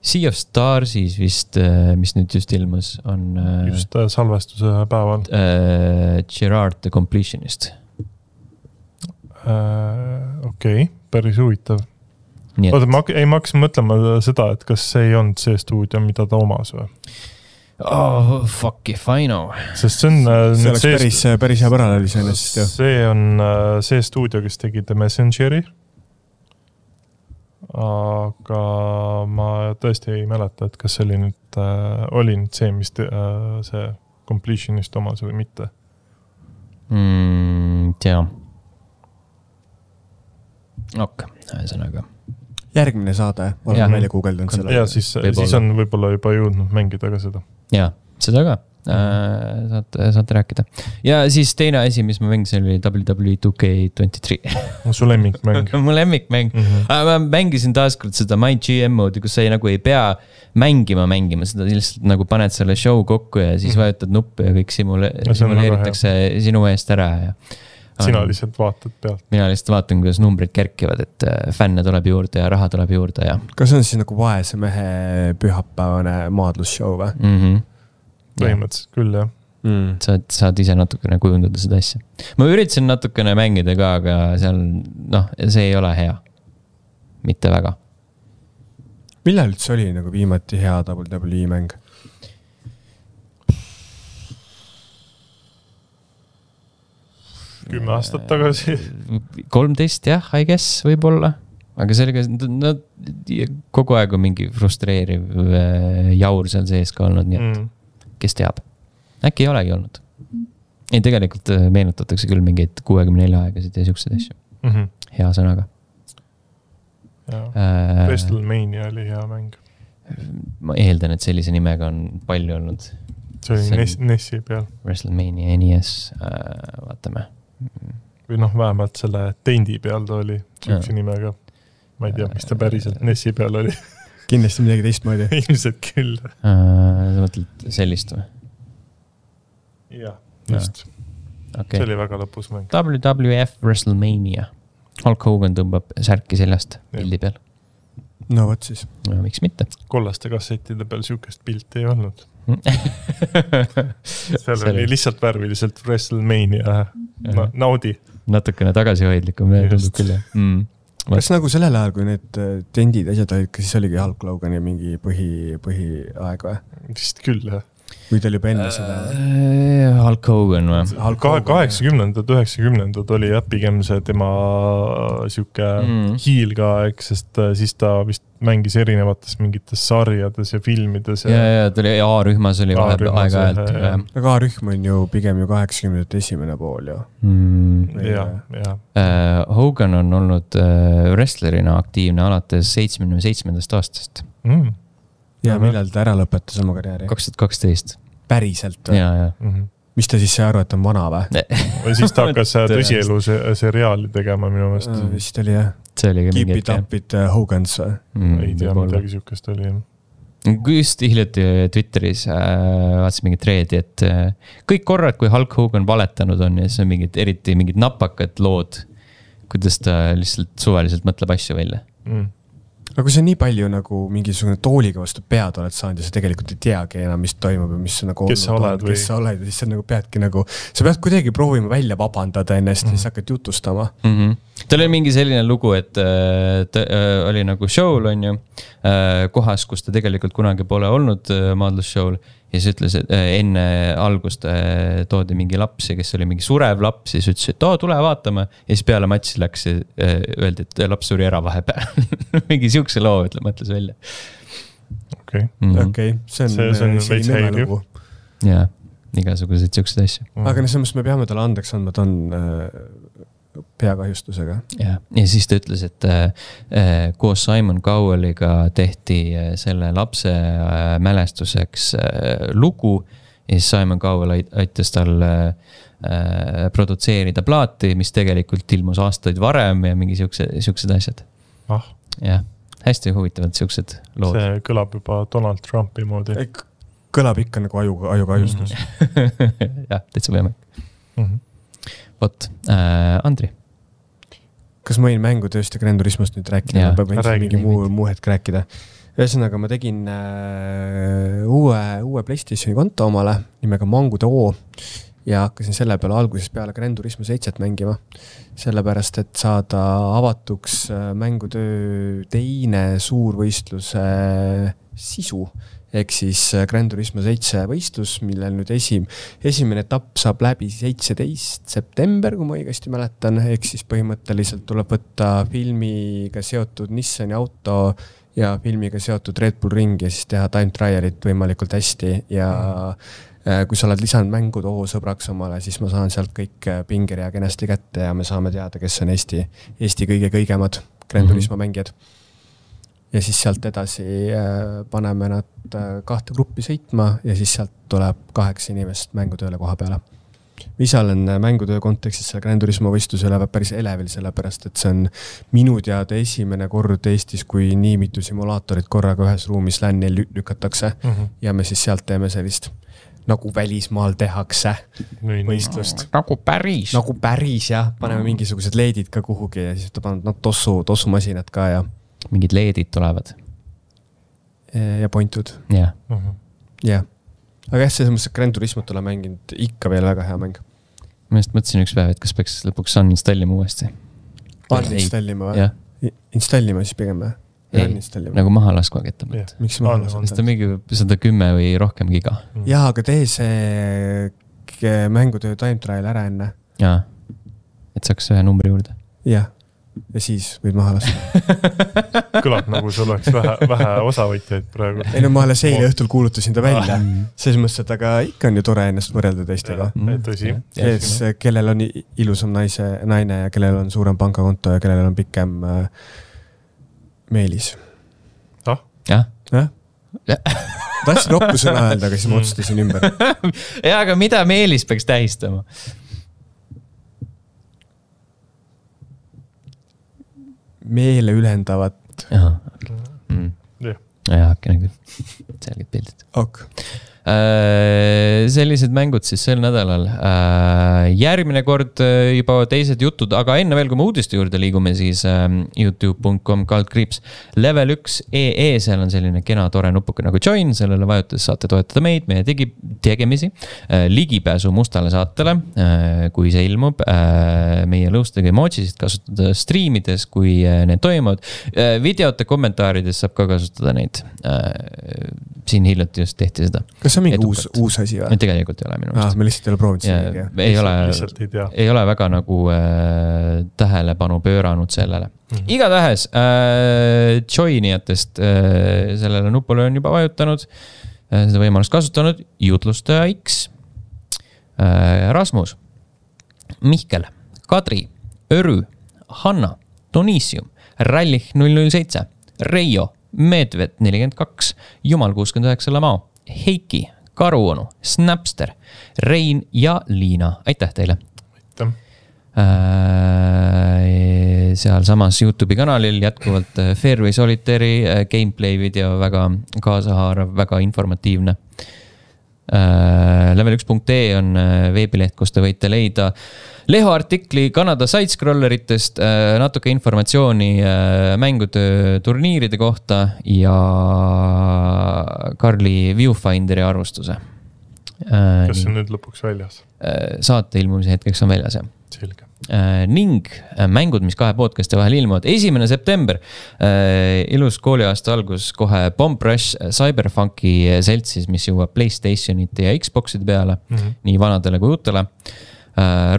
Sea of Starsis vist, mis nüüd just ilmus, on just salvestuse päeval. Gerard the Completionist. Okei, päris huvitav. Oota, ma hakkasin mõtlema seda, et kas see ei olnud see stuudio, mida ta omas või? Oh, fuck if I know. Sest see on see oleks päris hea paralleeli sellest. See on see stuudio, kes tegi The Messengeri. Aga ma tõesti ei mäleta, et kas see oli nüüd see, mis see completionist omas või mitte. Tea. Ühesõnaga. Järgmine saade, olen välja guugeldanud selle. Ja siis on võib-olla juba jõudnud mängida ka seda. Ja, seda ka. Saate rääkida. Ja siis teine asi, mis ma mängisin, oli WWE 2K23. Su lemmikmäng. Mu lemmikmäng. Ma mängisin taaskord seda My GM moodi, kus sa nagu ei pea mängima, seda lihtsalt nagu paned selle show kokku ja siis vajutad nuppu ja kõik simuleeritakse sinu eest ära. Sina lihtsalt vaatad pealt. Mina lihtsalt vaatan, kuidas numbrid kerkivad, et fänne tuleb juurde ja raha tuleb juurde. Ja. Kas see on siis nagu vaese mehe pühapäevane maadlusshow või? Põhimõtteliselt küll, jah. Saad ise natukene kujundada seda asja. Ma üritasin natukene mängida ka, aga seal, see ei ole hea. Mitte väga. Millal üldse oli nagu viimati hea WWE mäng? Kümme aastat tagasi. 13, jah, I guess võib-olla. Aga sellega kogu aeg on mingi frustreeriv jaur seal sees ka olnud, nii et kes teab. Äkki ei olegi olnud. Ei, tegelikult meenutatakse küll mingeid 64 aegasid ja siukseid asju. Hea sõnaga. WrestleMania oli hea mäng. Ma eeldan, et sellise nimega on palju olnud. see oli NES-i peal. WrestleMania NES, vaatame. Või vähemalt selle tendi peal ta oli sihukese nimega. Ma ei tea, mis ta päriselt NES-i peal oli. Kindlasti midagi teistmoodi. Ilmselt küll. Sa mõtled sellist või? Jah, just. Okay. See oli väga lõpus mäng. WWF WrestleMania. Hulk Hogan tõmbab särki seljast pildi peal. No võt siis. No, miks mitte? Kollaste kassettide peal sihukest pilti ei olnud. Seal oli lihtsalt värviliselt WrestleMania. Naudi. Natukene tagasihoidlikum. Kas nagu sellel ajal, kui need tendid asjad olid, siis oligi Hulk Hogani mingi põhiaeg või? Vist küll, jah. Või ta oli juba enne seda? Hulk Hogan või? 80-ndad, 90-ndad oli jah pigem see tema sihuke hiilgaaeg, sest siis ta vist mängis erinevates mingites sarjades ja filmides. Ja ta oli A-rühmas oli aeg-ajalt. Aga A-rühm on ju pigem ju 80-ndate esimene pool ju. Hogan on olnud wrestlerina aktiivne alates 77. aastast. Ja millal ta ära lõpetas oma karjääri? 2012. Päriselt või? Ja. Mis ta siis sai aru, et on vana või? Või siis ta hakkas tõsielu seriaali tegema minu meelest. Vist oli jah. Keep it up it Hogans või? Ei tea, midagi sihukest oli. Just hiljuti Twitteris vaatasin mingit treedi, et kõik korrad, kui Hulk Hogan valetanud on ja see on eriti mingid napakad lood, kuidas ta lihtsalt suvaliselt mõtleb asju välja. Aga kui sa nii palju nagu mingisugune tooliga vastu pead oled saanud ja sa tegelikult ei teagi enam, mis toimub ja mis nagu kes sa oled ja siis sa nagu peadki nagu, sa pead kuidagi proovima välja vabandada ennast ja siis hakkad jutustama. Tal oli mingi selline lugu, et ta oli nagu show'l on ju, kohas, kus ta tegelikult kunagi pole olnud maadlusshow'l ja siis ütles, et enne algust toodi mingi lapsi, kes oli mingi surev laps ja siis ütles, et tule vaatame ja siis peale matši läks ja öeldi, et laps suri ära vahepeal. Mingi sihukese loo, mõtles välja. Okei, see on veits häiriv. Jaa, igasuguseid sihukesed asju. Aga selles me peame talle andeks andma, ta on peakahjustusega. Ja siis ta ütles, et koos Simon Cowelliga tehti selle lapse mälestuseks lugu ja siis Simon Cowell aitas tal produtseerida plaati, mis tegelikult ilmus aastaid varem ja mingi sihukesed asjad. Ja, hästi huvitavad sihukesed lood. See kõlab juba Donald Trumpi moodi. Kõlab ikka nagu ajukahjustus. Jah, täitsa võimalik. Vot, Andri. Kas ma võin mängutööst ja Gran Turismost nüüd rääkida? Ma võin mingi muu hetk rääkida. Ühesõnaga, ma tegin uue PlayStationi konto omale nimega Mangu.oo ja hakkasin selle peale alguses peale Gran Turismo 7 mängima. Sellepärast, et saada avatuks mängutöö teine suurvõistluse sisu. Ehk siis Gran Turismo 7 võistlus, millel nüüd esimene etapp saab läbi 17. september, kui ma õigesti mäletan. Ehk siis põhimõtteliselt tuleb võtta filmiga seotud Nissani auto ja filmiga seotud Red Bull ring ja siis teha time trialit võimalikult hästi. Ja kui sa oled lisanud Mangu.oo sõbraks omale, siis ma saan sealt kõik pingeria kenasti kätte ja me saame teada, kes on Eesti kõige-kõigemad Gran Turismo mängijad. Ja siis sealt edasi paneme nad 2 gruppi sõitma ja siis sealt tuleb 8 inimest mängutööle koha peale. Ise olen mängutöö kontekstis selle Gran Turismo võistlusele päris elevil, sellepärast, et see on minu teada esimene kord Eestis, kui nii mitu simulaatorit korraga ühes ruumis LAN-i lükatakse ja me siis sealt teeme sellist nagu välismaal tehakse võistlust. Nagu päris, jah. Paneme mingisugused leedid ka kuhugi ja siis ta paneb tossumasinad ka ja mingid leedid tulevad. Ja pointud. Jah. Aga jah, selles mõttes, et Gran Turismot olen mänginud ikka veel väga hea mäng. Ma just mõtlesin üks päev, et kas peaks lõpuks uninstallima uuesti. Uninstallima või? Installima siis pigem või? Ei, nagu maha laskva kettab. Miks maha laskva? Sest on mingi 110 või rohkem giga. Jaa, aga tee see mängutöö time trial ära enne. Jaa, et saaks ühe numbri juurde. Jah. Ja siis võid maha lasta. Kõlab nagu sul oleks vähe osavõtjaid praegu. Ei no ma alles eile õhtul kuulutasin ta välja. Selles mõttes, et aga ikka on ju tore ennast võrelda teistega. Tõsi. Kellel on ilusam naine ja kellel on suurem pangakonto ja kellel on pikem meelis. Jah. tahtsin roppu sõna öelda, aga siis ma otsustasin ümber. Ja, aga mida Meelis peaks tähistama? Meele ülendavat. Jah, äkki nagu selged pildid. Sellised mängud siis sel nädalal. Järgmine kord juba teised jutud, aga enne veel, kui me uudiste juurde liigume, siis youtube.com/. Level 1 EE, seal on selline kena tore nupuke nagu join, sellele vajutades saate toetada meid, meie tegemisi, ligipääsu mustale saatele, kui see ilmub, meie lõustega emojisid kasutada streamides, kui need toimuvad, videote kommentaarides saab ka kasutada neid. Siin hiljuti just tehti seda. Kas see on mingi uus asi või? Tegelikult ei ole minu mõist. Me lihtsalt ei ole proovinud seda. Ei ole väga nagu tähelepanu pööranud sellele. Igatahes joinijatest sellele nupule on juba vajutanud, seda võimalust kasutanud jutlustaja X, Rasmus, Mihkel, Kadri, Örü, Hanna, Donisium, Rallich 007, Reijo, Medved 42, Jumal 69 Lamao, Heiki, Karuonu, Snapster, Rein ja Liina. Aitäh teile! Aitäh! Seal samas YouTube'i kanalil jätkuvalt Fairway Solitairi gameplay video, väga kaasahaarav, väga informatiivne. Level1.ee on veebileht, kus te võite leida Leho artikli Kanada sidescrolleritest, natuke informatsiooni mängude turniiride kohta ja Karli Viewfinderi arvustuse. Kas see on nüüd lõpuks väljas? Saate ilmumise hetkeks on väljas, jah. Selge. Ning mängud, mis 2 podcasti vahel ilmuvad. 1. september, ilus kooliaasta algus, kohe Bomb Rush Cyberfunki seltsis, mis jõuab PlayStationite ja Xboxide peale, nii vanadele kui uutele.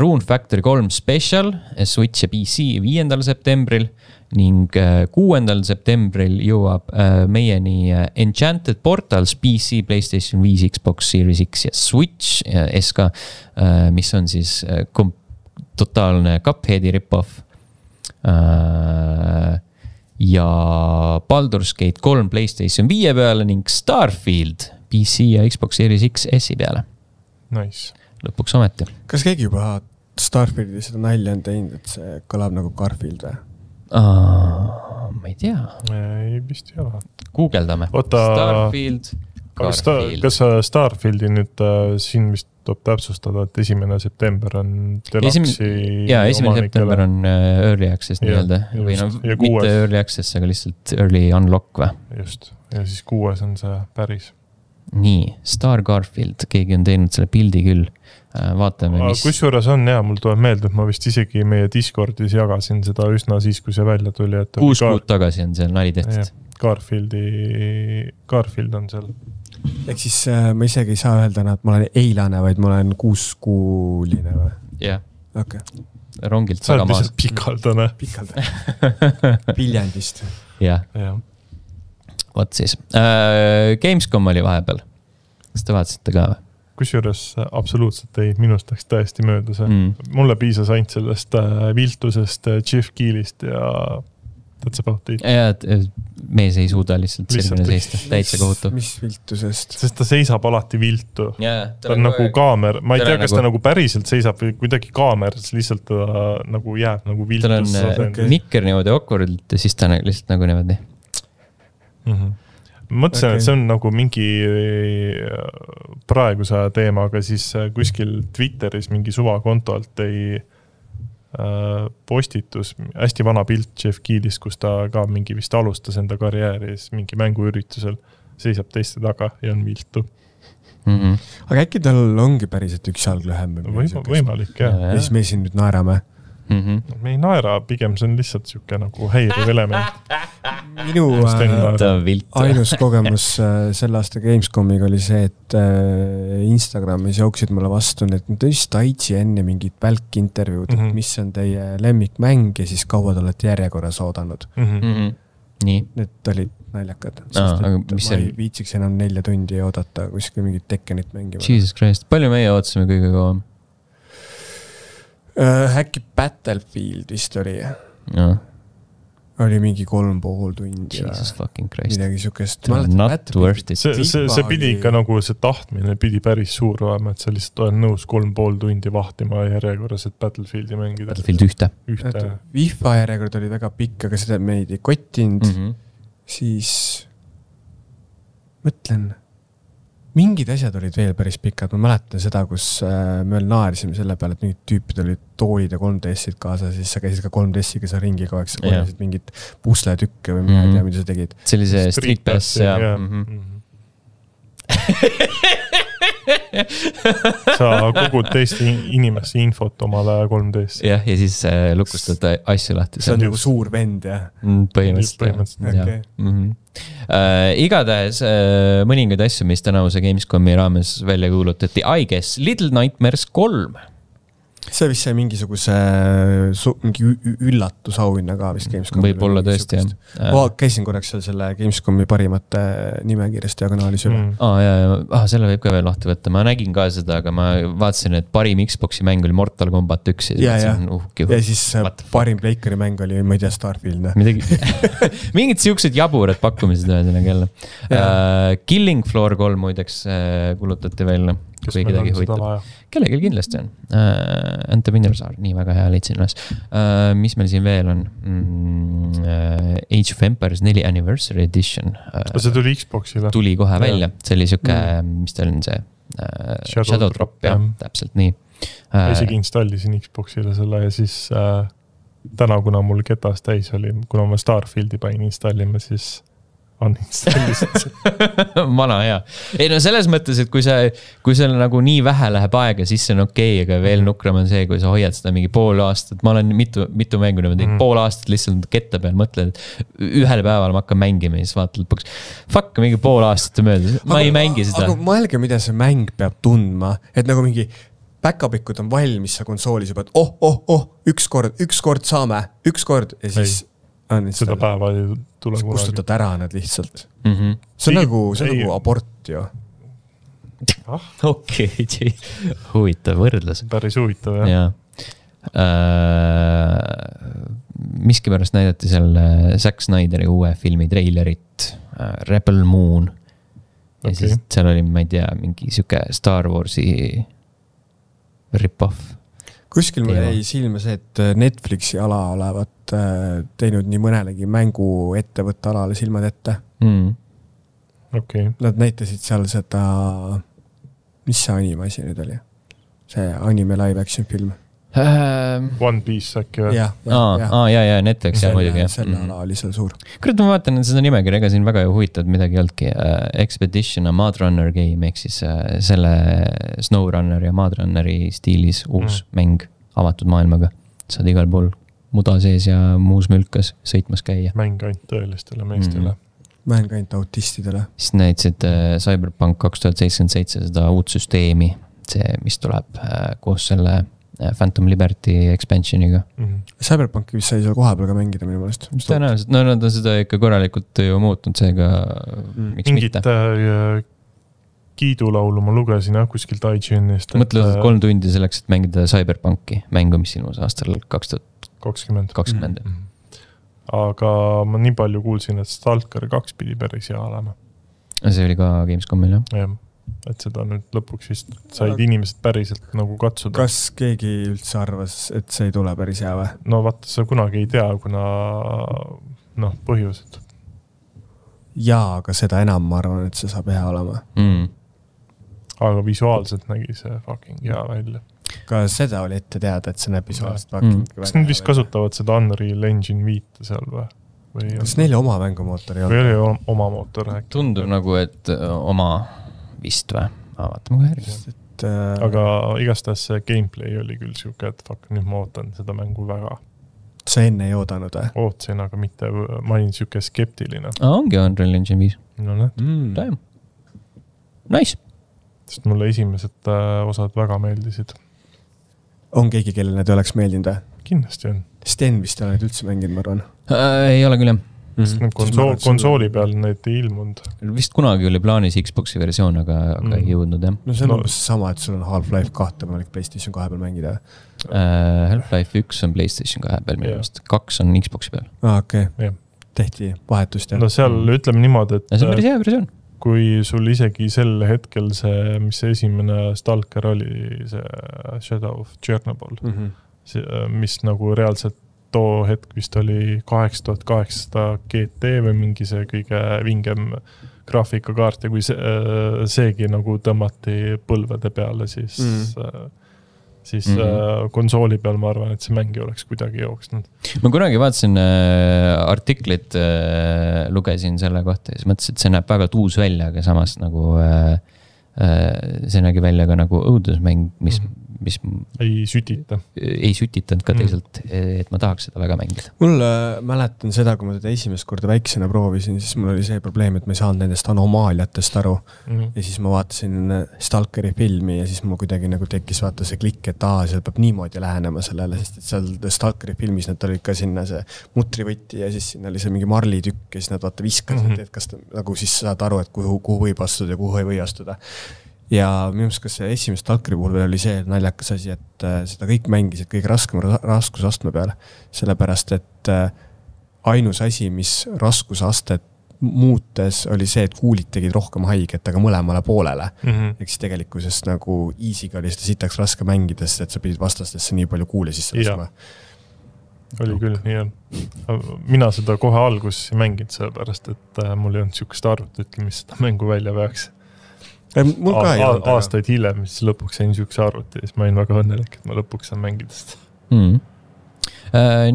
Rune Factory 3 Special, Switch ja PC 5. septembril ning 6. septembril jõuab meieni Enchanted Portals PC, PlayStation 5, Xbox Series X ja Switch ja SK, mis on siis totaalne Cupheadi rip-off. Ja Baldur's Gate 3 PlayStation 5 peale ning Starfield PC ja Xbox Series X S-i peale. Nice. Lõpuks ometi. Kas keegi juba Starfieldi seda nalja on teinud, et see kõlab nagu Garfield või? Ma ei tea. Ei, vist ei ole. Googeldame. Starfield, Garfield. Kas Starfieldi nüüd siin vist tuleb täpsustada, et 1. september on Deluxi Jaa, 1. september on early access nii-öelda. Või no, mitte early access, aga lihtsalt early unlock või? Just. Ja siis 6. on see päris. Nii, Star Garfield, keegi on teinud selle pildi küll. Vaatame, mis... Kusjuures on jah, mul tuleb meelde, et ma vist isegi meie Discordis jagasin seda üsna siis, kui see välja tuli. 6 kuud tagasi on seal nali tehtud. Garfield on seal. Ehk siis ma isegi ei saa öelda, et ma olen eilane, vaid ma olen 6-kuuline või? Jah. Okay. Rongilt sa oled lihtsalt pikaldane. Viljandist. Jah. Võt siis. Gamescom oli vahepeal. Kas te vaatasite ka või? Kusjuures absoluutselt ei, minust läks täiesti mööda see. Mulle piisas ainult sellest viltusest Jeff Keelist ja that's about it. Ja, mees ei suuda lihtsalt silmine seista. Täitsa kohutav. Mis viltusest? Sest ta seisab alati viltu. Ta on nagu kaamer. Ma ei tea, kas ta nagu päriselt seisab või kuidagi kaameras lihtsalt ta nagu jääb nagu viltus. Tal on nikker niimoodi awkwardit ja siis ta lihtsalt nagu niimoodi. Mõtlesin, et see on nagu mingi praeguse teema, aga siis kuskil Twitteris mingi suvakontolt ei postitus hästi vana pilt Jeff Keelist, kus ta ka mingi vist alustas enda karjääris mingi mänguüritusel, seisab teiste taga ja on viltu. Aga äkki tal ongi päriselt üks jalg lühem? Võimalik, jah. Ja siis me siin nüüd naerame. Me ei naera, pigem see on lihtsalt siuke nagu häiriv element. Minu ainus kogemus selle aasta Gamescomiga oli see, et Instagramis jooksid mulle vastu need just Aitsi enne mingid välkintervjuud, et mis on teie lemmikmäng ja siis kaua te olete järjekorras oodanud. Nii. Need olid naljakad. Ma ei viitsiks enam 4 tundi oodata kuskil mingit Tekkenit mängima. Jesus Christ, palju meie ootasime kõige kauem? Äkki Battlefield vist oli. oli mingi 3,5 tundi. Jesus fucking Christ. Midagi sükest. Not worth it. See pidi ikka nagu see tahtmine pidi päris suur olema, et sa lihtsalt olen nõus 3,5 tundi vahtima järjekorras, et Battlefieldi mängida. Battlefield 1. FIFA järjekord oli väga pikk, aga seda meid ei kottinud. Siis mõtlen, mingid asjad olid veel päris pikad. Ma mäletan seda, kus me veel naarisime selle peale, et mingid tüüpid olid toolid ja 3DS-id kaasa, siis sa käisid ka 3DS-iga sa ringi kogu aeg, sa korjasid mingid pusletükke või mida mida sa tegid. See oli see Street Pass ja... Sa kogud teiste inimeste infot omale 3DS. Jah, ja siis lukustad asju lahti. See on nagu suur vend, jah? Põhimõtteliselt. Igatahes mõningaid asju, mis tänavuse Gamescomi raames välja kuulutati. I guess Little Nightmares 3. See vist sai mingisuguse mingi üllatusauhinna ka vist Gamescomi. Võib-olla tõesti, jah. Käisin korraks seal selle Gamescomi parimate nimekirjast diagonaalis üle. Selle võib ka veel lahti võtta. Ma nägin ka seda, aga ma vaatasin, et parim Xboxi mäng oli Mortal Kombat 1. Ja siis parim Pleikari mäng oli, ma ei tea, Starfield. Mingid siuksed jaburad pakkumised ühesõnaga jälle. Killing Floor 3 muideks kulutati välja. Kui kedagi huvitab. Kellelgi kindlasti on. Ante Minnersaar, nii väga hea leidsin üles. Mis meil siin veel on? Age of Empires 4 Anniversary Edition. See tuli Xboxile. Tuli kohe välja. See oli siuke, mis ta on see? Shadow Drop, jah. Täpselt nii. Isegi installisin Xboxile selle ja siis täna, kuna mul ketas täis oli, kuna ma Starfieldi panin installima, siis Vana hea. Ei no selles mõttes, et kui seal nagu nii vähe läheb aega, siis see on okei, aga veel nukram on see, kui sa hoiad seda mingi pool aastat. Ma olen mitu mängu niimoodi, pool aastat lihtsalt ketta peal mõtled, et ühel päeval ma hakkan mängima ja siis vaatad lõpuks, fuck, mingi pool aastat mööda. Ma ei mängi seda. Aga mõelge, mida see mäng peab tundma, et nagu mingi backupikud on valmis sa konsoolis juba, et ükskord saame, ükskord ja siis seda päeva ei tule kunagi. Kustutad ära nad lihtsalt. See on nagu abort ju. Okei, huvitav võrdlus. Päris huvitav, jah. Miski pärast näidati seal Zack Snyderi uue filmi treilerit Rebel Moon. Ja siis seal oli, ma ei tea, mingi siuke Star Warsi rip-off. Kuskil mul jäi silma see, et Netflixi ala olevat teinud nii mõnelegi mängu ettevõtte alale silmad ette. Nad näitasid seal seda, mis see anime asi nüüd oli? See anime live action film. One Piece äkki või? Ja, Netflix ja muidugi. Selle ala oli seal suur. Kurat, ma vaatan seda nimekirja, ega siin väga ju huvitavad midagi olnudki. Expedition a Madrunner game, ehk siis selle Snowrunner ja Madrunneri stiilis uus mäng avatud maailmaga. Saad igal pool muda sees ja muus mülkas sõitmas käia. Mäng ainult tõelistele meestele. Mäng ainult autistidele. Siis näitasid Cyberpunk 2077 seda uut süsteemi, see, mis tuleb koos selle Phantom Liberty expansioniga. Cyberpunki vist sai seal kohapeal ka mängida minu mõelest. Tõenäoliselt, no nad on seda ikka korralikult ju muutnud, seega miks mitte. Mingit kiidulaulu ma lugesin kuskilt IGNist. Mõtled 3 tundi selleks, et mängida Cyberpunki mängu, mis ilmus aastal 2020. Aga ma nii palju kuulsin, et Stalker 2 pidi päris hea olema. See oli ka Gamescomil, jah? Et seda nüüd lõpuks vist said inimesed päriselt nagu katsuda. Kas keegi üldse arvas, et see ei tule päris hea või? No vaata, sa kunagi ei tea, kuna põhjused. Jaa, aga seda enam ma arvan, et see saab hea olema. Aga visuaalselt nägi see fucking hea välja. Ka seda oli ette teada, et see näeb visuaalselt fucking kas nad vist kasutavad seda Unreal Engine 5 seal või? Kas neil oma mängumootor ei olnud? Või oli oma mootor? Tundub nagu, et oma vist või? Vaatame kui järgi. Aga igastahes see gameplay oli küll siuke, et fuck, nüüd ma ootan seda mängu väga. Sa enne ei oodanud või? Ootsin, aga mitte, ma olin siuke skeptiline. Ongi Unreal Engine 5. No näed. Nice. Sest mulle esimesed osad väga meeldisid. On keegi, kellel need oleks meeldinud või? Kindlasti on. Sten vist oled üldse mänginud, ma arvan. Ei ole küll, jah. konsooli peal need ei ilmunud. Vist kunagi oli plaanis Xboxi versioon, aga ei jõudnud, jah. No see on umbes sama, et sul on Half-Life 2 võimalik PlayStation 2 peal mängida. Half-Life 1 on PlayStation 2 peal minu meelest, 2 on Xboxi peal. Okei. Tehti vahetust, jah. No seal ütleme niimoodi, et see on päris hea versioon. Kui sul isegi sel hetkel see, mis see esimene Stalker oli, see Shadow of Chernobyl, mis nagu reaalselt too hetk vist oli 8800 GT või mingi see kõige vingem graafikakaart ja kui seegi nagu tõmmati põlvede peale, siis konsooli peal ma arvan, et see mängi oleks kuidagi jooksnud. Ma kunagi vaatasin artiklit, lugesin selle kohta ja siis mõtlesin, et see näeb väga uus välja, aga samas nagu see nägi välja ka nagu õudusmäng, mis ei sütitanud ka teisalt, et ma tahaks seda väga mängida. Mul mäletan seda, kui ma teda esimest korda väiksena proovisin, siis mul oli see probleem, et ma ei saanud nendest anomaaliatest aru. Ja siis ma vaatasin Stalkeri filmi ja siis mul kuidagi nagu tekkis vaata see klikk, et seal peab niimoodi lähenema sellele, sest et seal Stalkeri filmis nad olid ka sinna see mutrivõtti ja siis sinna oli see mingi marlitükk ja siis nad vaata viskasid, et kas nagu siis saad aru, et kuhu võib astuda ja kuhu ei või astuda. Ja minu meelest, kas see esimest Stalkeri puhul oli see naljakas asi, et seda kõik mängisid kõige raskem raskusastme peale. Sellepärast, et ainus asi, mis raskusastet muutes, oli see, et kuulid tegid rohkem haiget, aga mõlemale poolele. Ehk siis tegelikkusest nagu easy'ga oli seda sitaks raske mängida, sest et sa pidid vastastesse nii palju kuule sisse laskma. Oli küll, nii on. Mina seda kohe alguses ei mänginud sellepärast, et mul ei olnud siukest arvut, mis seda mängu välja peaks. Aastaid hiljem, siis lõpuks sain siukse arvuti ja siis ma olin väga õnnelik, et ma lõpuks saan mängidest.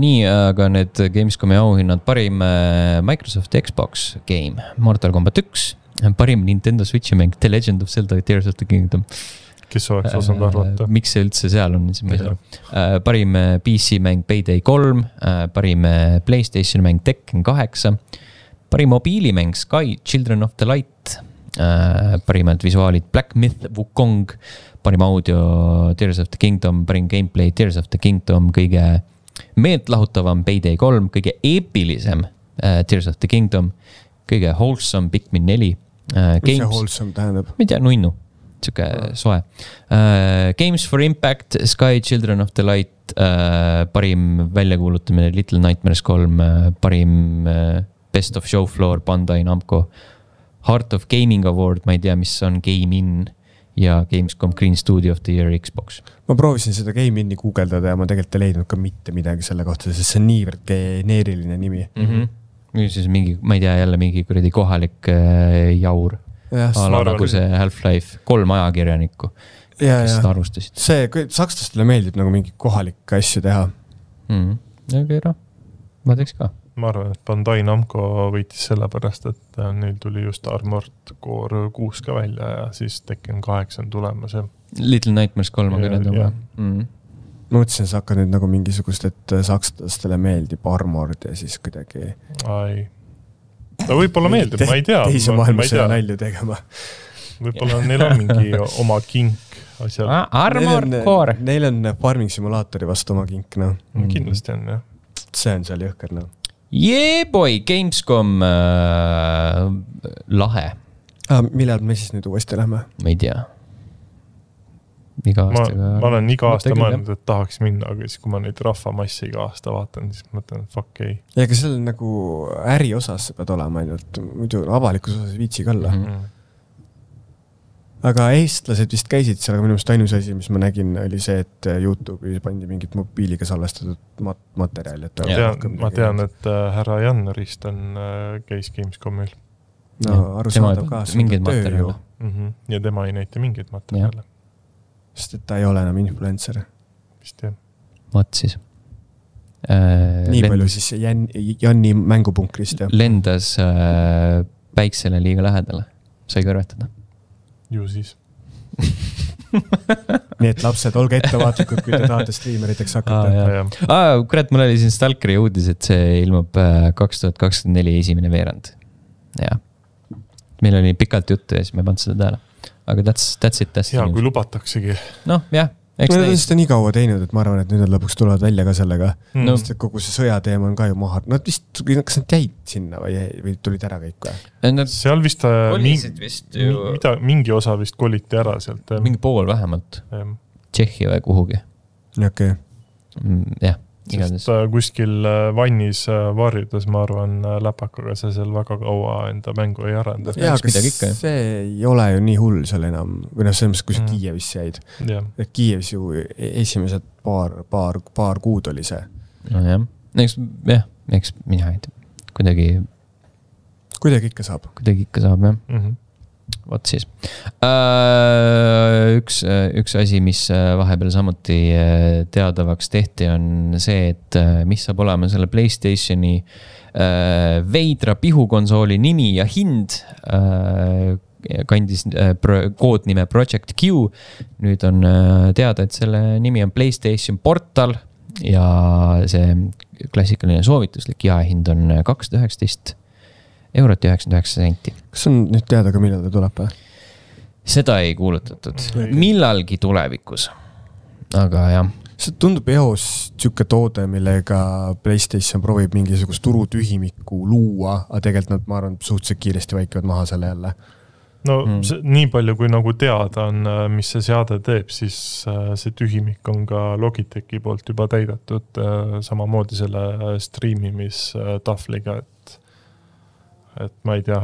Nii, aga need Gamescomi auhinnad, parim Microsoft Xbox game, Mortal Kombat 1, parim Nintendo Switchi mäng, The Legend of Zelda Tears of the Kingdom. Kes oleks osanud arvata? Miks see üldse seal on? Parim PC mäng Payday 3, parim PlayStation mäng Tekken 8, parim mobiilimäng Sky Children of the Light, parimad visuaalid Black Myth, Wukong, parim audio Tears of the Kingdom, parim gameplay Tears of the Kingdom, kõige meeltlahutavam Payday 3, kõige eepilisem Tears of the Kingdom, kõige wholesome Pikmin 4. Mis see wholesome tähendab? Ma ei tea, nunnu, siuke soe. Games for Impact, Sky Children of the Light, parim väljakuulutamine Little Nightmares 3, parim Best of Show Floor Bandai Namco, Heart of Gaming Award, ma ei tea, mis on Game In ja Gamescom Green Studio of the Year Xbox. Ma proovisin seda Game Inni guugeldada ja ma tegelikult ei leidnud ka mitte midagi selle kohta, sest see on niivõrd geneeriline nimi. Siis mingi, ma ei tea, jälle mingi kuradi kohalik jaur. Nagu see Half-Life 3 ajakirjanikku, kes seda arvustasid. See, sakslastele meeldib nagu mingi kohalik asju teha. Ma teeks ka. Ma arvan, et Bandai Namco võitis selle pärast, et neil tuli just Armored Core 6 ka välja ja siis Tekken 8 on tulemas. Little Nightmares 3 on kõned juba. Ma mõtlesin, sa hakkad nüüd nagu mingisugust, et sakslastele meeldib Armored ja siis kuidagi... Ai. Ta võib-olla meeldib, ma ei tea. Teise maailmasõja nalju tegema. Võib-olla neil on mingi oma kink asjal. Armored Core. Neil on farming simulaatori vastu oma kink, no. Kindlasti on, jah. See on seal jõhker, no. Boy, Gamescom lahe. Millal me siis nüüd uuesti lähme? Ma ei tea. Iga aastaga... Ma olen iga aasta mõelnud, et tahaks minna, aga siis kui ma neid rahvamassi iga aasta vaatan, siis mõtlen, et fuck ei. Ja aga seal nagu äri osas pead olema ainult, muidu avalikus osas viitsig olla. Aga eestlased vist käisid seal, aga minu meelest ainus asi, mis ma nägin, oli see, et YouTube'i pandi mingit mobiiliga salvestatud materjali. Ma tean, et härra Jannarist käis Gamescomil. No arusaadav ka. Mingid materjale. Ja tema ei näita mingid materjale. Sest et ta ei ole enam influencer. Vist jah. Vaat siis. Nii palju siis Janni mängupunkrist. Lendas päiksele liiga lähedale. Sai kõrvetada. Ju siis. Nii et lapsed, olge ettevaatlikud, kui te tahate striimeriteks hakata. Kurat, mul oli siin Stalkeri uudis, et see ilmub 2024 esimene veerand. Ja. Meil oli pikalt juttu ja siis me ei pannud seda tääle. Aga that's it. Ja, kui lubataksegi. Noh, jah. Nad on seda nii kaua teinud, et ma arvan, et nüüd nad lõpuks tulevad välja ka sellega. No. Sest kogu see sõjateema on ka ju maha. Nad vist, kas nad jäid sinna või tulid ära kõik või? Seal vist, mingi osa vist koliti ära sealt. Mingi pool vähemalt. Tšehhi või kuhugi. Okay. Jah. Sest kuskil vannis varjudes, ma arvan, läpakaga see seal väga kaua enda mängu ei arenda. Jaa, aga see ei ole ju nii hull seal enam, või selles, kui see Kiievis jäid. Kiievis ju esimesed paar kuud oli see. No jah, eks mina ei tea. Kuidagi ikka saab, jah. Võt siis. Üks asi, mis vahepeal samuti teadavaks tehti, on see, et mis saab olema selle PlayStationi veidra pihukonsooli nimi ja hind. Kandis koodnime Project Q. Nüüd on teada, et selle nimi on PlayStation Portal ja see klassikaline soovituslik jaehind on 219 eurot ja 99 senti. Kas on nüüd teada ka, millal ta tuleb? Seda ei kuulutatud. Millalgi tulevikus. Aga jah. See tundub eos tšuke toode, millega PlayStation proovib mingisugust turutühimikku luua, aga tegelikult nad, ma arvan, suhteliselt kiiresti vaikivad maha selle jälle. No nii palju, kui nagu teada on, mis see seade teeb, siis see tühimik on ka Logitechi poolt juba täidatud samamoodi selle streamimistahvliga, et ma ei tea.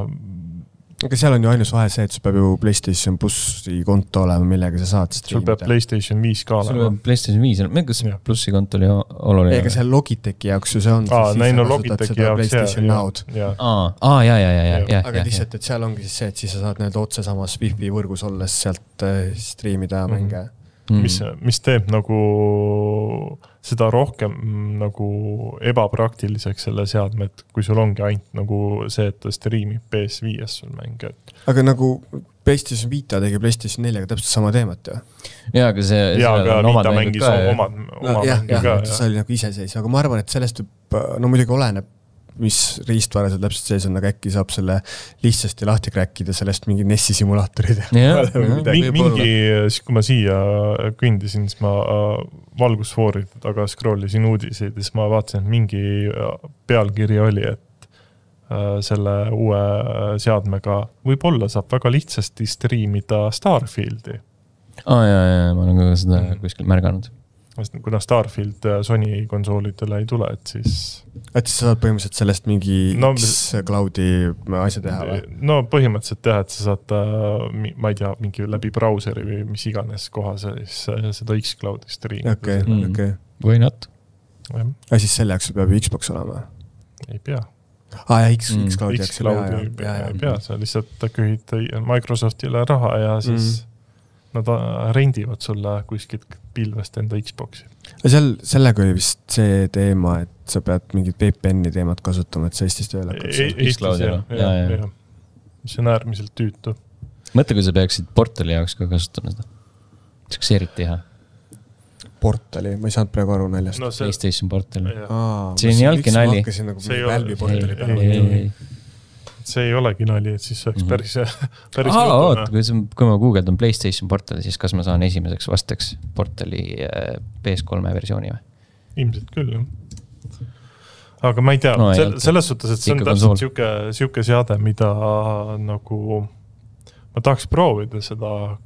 Aga seal on ju ainus vahe see, et sul peab ju PlayStation Plussi konto olema, millega sa saad sul peab PlayStation 5 ka olema. Sul peab PlayStation 5, kas Plussi konto oli oluline? Ega seal Logitechi jaoks ju see on. Logitechi jaoks aga lihtsalt, et seal ongi siis see, et siis sa saad need otse samas Wi-Fi võrgus olles sealt streamida mänge. Mis teeb nagu seda rohkem nagu ebapraktiliseks selle seadme, et kui sul ongi ainult nagu see, et ta streamib PS5 sul mänge. Aga nagu PlayStation Vita tegi PlayStation 4-ga täpselt sama teemat ju. Jaa, aga see aga Vita mängis oma mängi ka. See oli nagu iseseis, aga ma arvan, et sellest no muidugi oleneb, mis riistvara seal täpselt sees on, aga äkki saab selle lihtsasti lahti kräkkida sellest mingi NES-i simulaatorid. Mingi, kui ma siia kõndisin, siis ma valgusfooride taga scrollisin uudiseid, siis ma vaatasin, et mingi pealkiri oli, et selle uue seadmega võib-olla saab väga lihtsasti streamida Starfieldi. Jaa, ma olen ka seda kuskil märganud. Kuna Starfield Sony konsoolidele ei tule, et siis sa saad põhimõtteliselt sellest mingi X-Cloudi asja teha või? No põhimõtteliselt teha, et sa saad, ma ei tea, mingi läbi brauseri või mis iganes koha seda X-Cloudi streamida. Okay. Või not? Ja siis selle jaoks peab Xbox olema? Ei pea. X-Cloudi jaoks ei pea, sa lihtsalt kühid Microsoftile raha ja siis nad rendivad sulle kuskilt pilvest enda Xboxi. Sellega oli vist see teema, et sa pead mingid VPN-i teemad kasutama, et sa Eestis tööle hakkaks. Mis on äärmiselt tüütu. Mõtle, kui sa peaksid portali jaoks ka kasutama seda. Kas erit teha? Portali? Ma ei saanud praegu aru naljast. PlayStation portali. See on jalki nali. Ma hakkasin nagu välbi portali peale. See ei olegi nali, et siis oleks päris kui ma guugeldan PlayStation portali, siis kas ma saan esimeseks vastaks portali PS3 versiooni või? Ilmselt küll, jah. Aga ma ei tea, selles suhtes, et see on täpselt siuke seade, mida nagu ma tahaks proovida seda,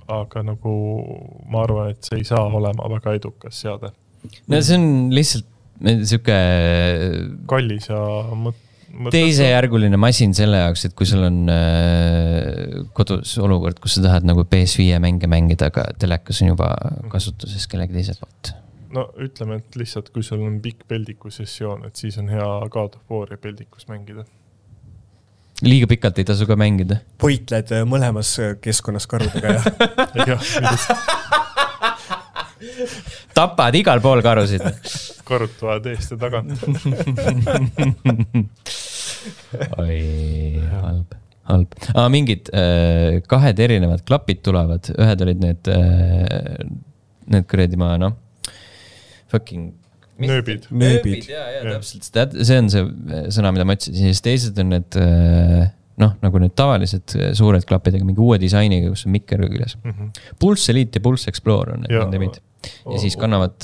aga nagu ma arvan, et see ei saa olema väga edukas seade. No see on lihtsalt siuke kallis ja teisejärguline masin selle jaoks, et kui sul on kodus olukord, kus sa tahad nagu PS5 mänge mängida, aga telekas on juba kasutuses kellegi teised poolt. No ütleme, et lihtsalt kui sul on pikk peldiku sessioon, et siis on hea God of War ja peldikus mängida. Liiga pikalt ei tasu ka mängida. Võitled mõlemas keskkonnas karudega ja tapad igal pool karusid. Karutuvad eest ja tagant. Oi, halb. Mingid kahed erinevad klapid tulevad. Ühed olid need kuredi fucking nööbid. Ja, täpselt. See on see sõna, mida ma ütlesin. Siis teised on need noh, nagu need tavalised suured klapidega, mingi uue disainiga, kus on mikker küljes. Pulse Elite ja Pulse Explorer on need nendemid. Ja siis kannavad,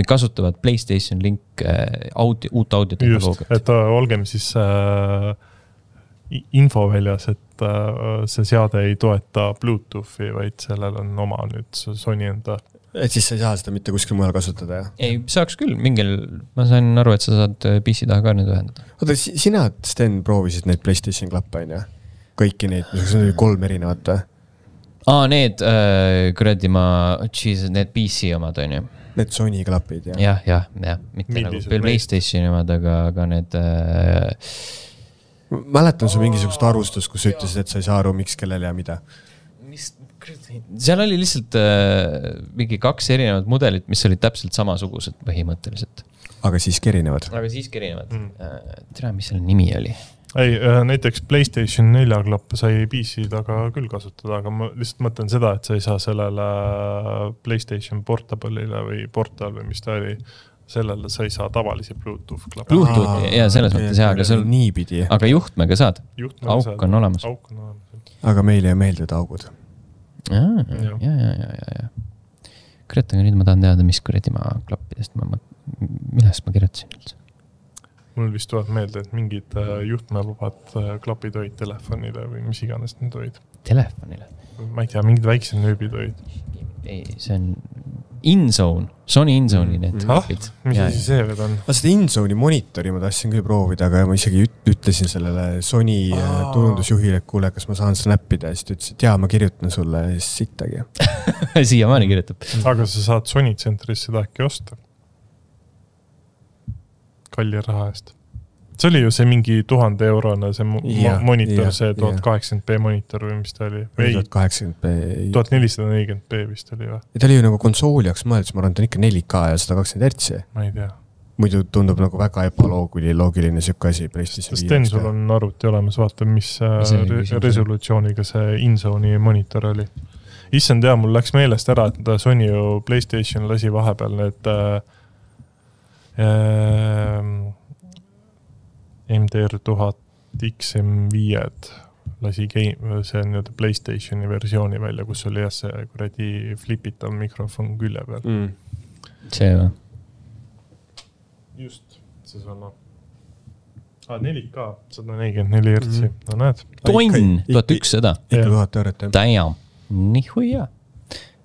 kasutavad PlayStation Link uut audiotehnoloogiat. Just, et olgem siis info väljas, et see seade ei toeta Bluetoothi, vaid sellel on oma nüüd Sony enda. Et siis sa ei saa seda mitte kuskil mujal kasutada, jah? Ei, saaks küll mingil, ma sain aru, et sa saad PC taha ka nüüd ühendada. Oota, sina, Sten, proovisid neid PlayStation klappe, on ju? Kõiki neid, mis on 3 erinevat või? Need, kuradi need PC omad, on ju. Need Sony klapid, jah? Jah, mitte nagu PlayStation omad, aga need... Mäletan su mingisugust arvustust, kus ütlesid, et sa ei saa aru, miks, kellel ja mida. Seal oli lihtsalt mingi 2 erinevat mudelit, mis olid täpselt samasugused põhimõtteliselt. Aga siiski erinevad. Tere, mis selle nimi oli? Ei, näiteks PlayStation 4 klappe sai PC taga küll kasutada, aga ma lihtsalt mõtlen seda, et sa ei saa sellele PlayStation Portable'ile või Portal või mis ta oli, sellele sa ei saa tavalisi Bluetooth klappe. Bluetooth, ja selles mõttes jah, aga juhtmega saad. Auk on olemas. Aga meile ei meeldivad augud. Ja. Kurat, aga nüüd ma tahan teada, mis kuradi ma klappidest, millest ma kirjutasin üldse. Mul vist tuleb meelde, et mingid juhtmevabad klapid olid telefonile või mis iganes need olid. Telefonile? Ma ei tea, mingid väiksed nööbid olid. Ei, see on InZone, Sony InZone'i need klapid. Mis asi see veel on? Seda InZone'i monitori ma tahtsin küll proovida, aga ma isegi ütlesin sellele Sony turundusjuhile, et kuule, kas ma saan seda näppida, ja siis ütles, et jaa, ma kirjutan sulle ja siis sittagi. Siiamaani kirjutab. Aga sa saad Sony tsentrist seda äkki osta. Kalli raha eest. See oli ju see mingi 1000 eurone see monitor, see 1080p monitor või mis ta oli? 1080p. 1440p vist oli või? Ta oli ju nagu konsooli jaoks mõeldus, ma arvan, ta on ikka 4K ja 120 Hz. Ma ei tea. Muidu tundub nagu väga ebaloogiline sükke asi. Sten, sul on arvuti olemas, vaata, mis resolutsiooniga see InZone'i monitor oli. Issand tea, mul läks meelest ära, et Sony ju PlayStation lasi vahepeal need MDR 1000 XM5 lasi see nüüd PlayStationi versiooni välja, kus oli jah see kuradi flipitav mikrofon külje peal. See või? Just, see sama. 4K, 144 Hz. No näed. Tonn, 1100. Ikka 1000 eurot, jah. Damn, nii huia.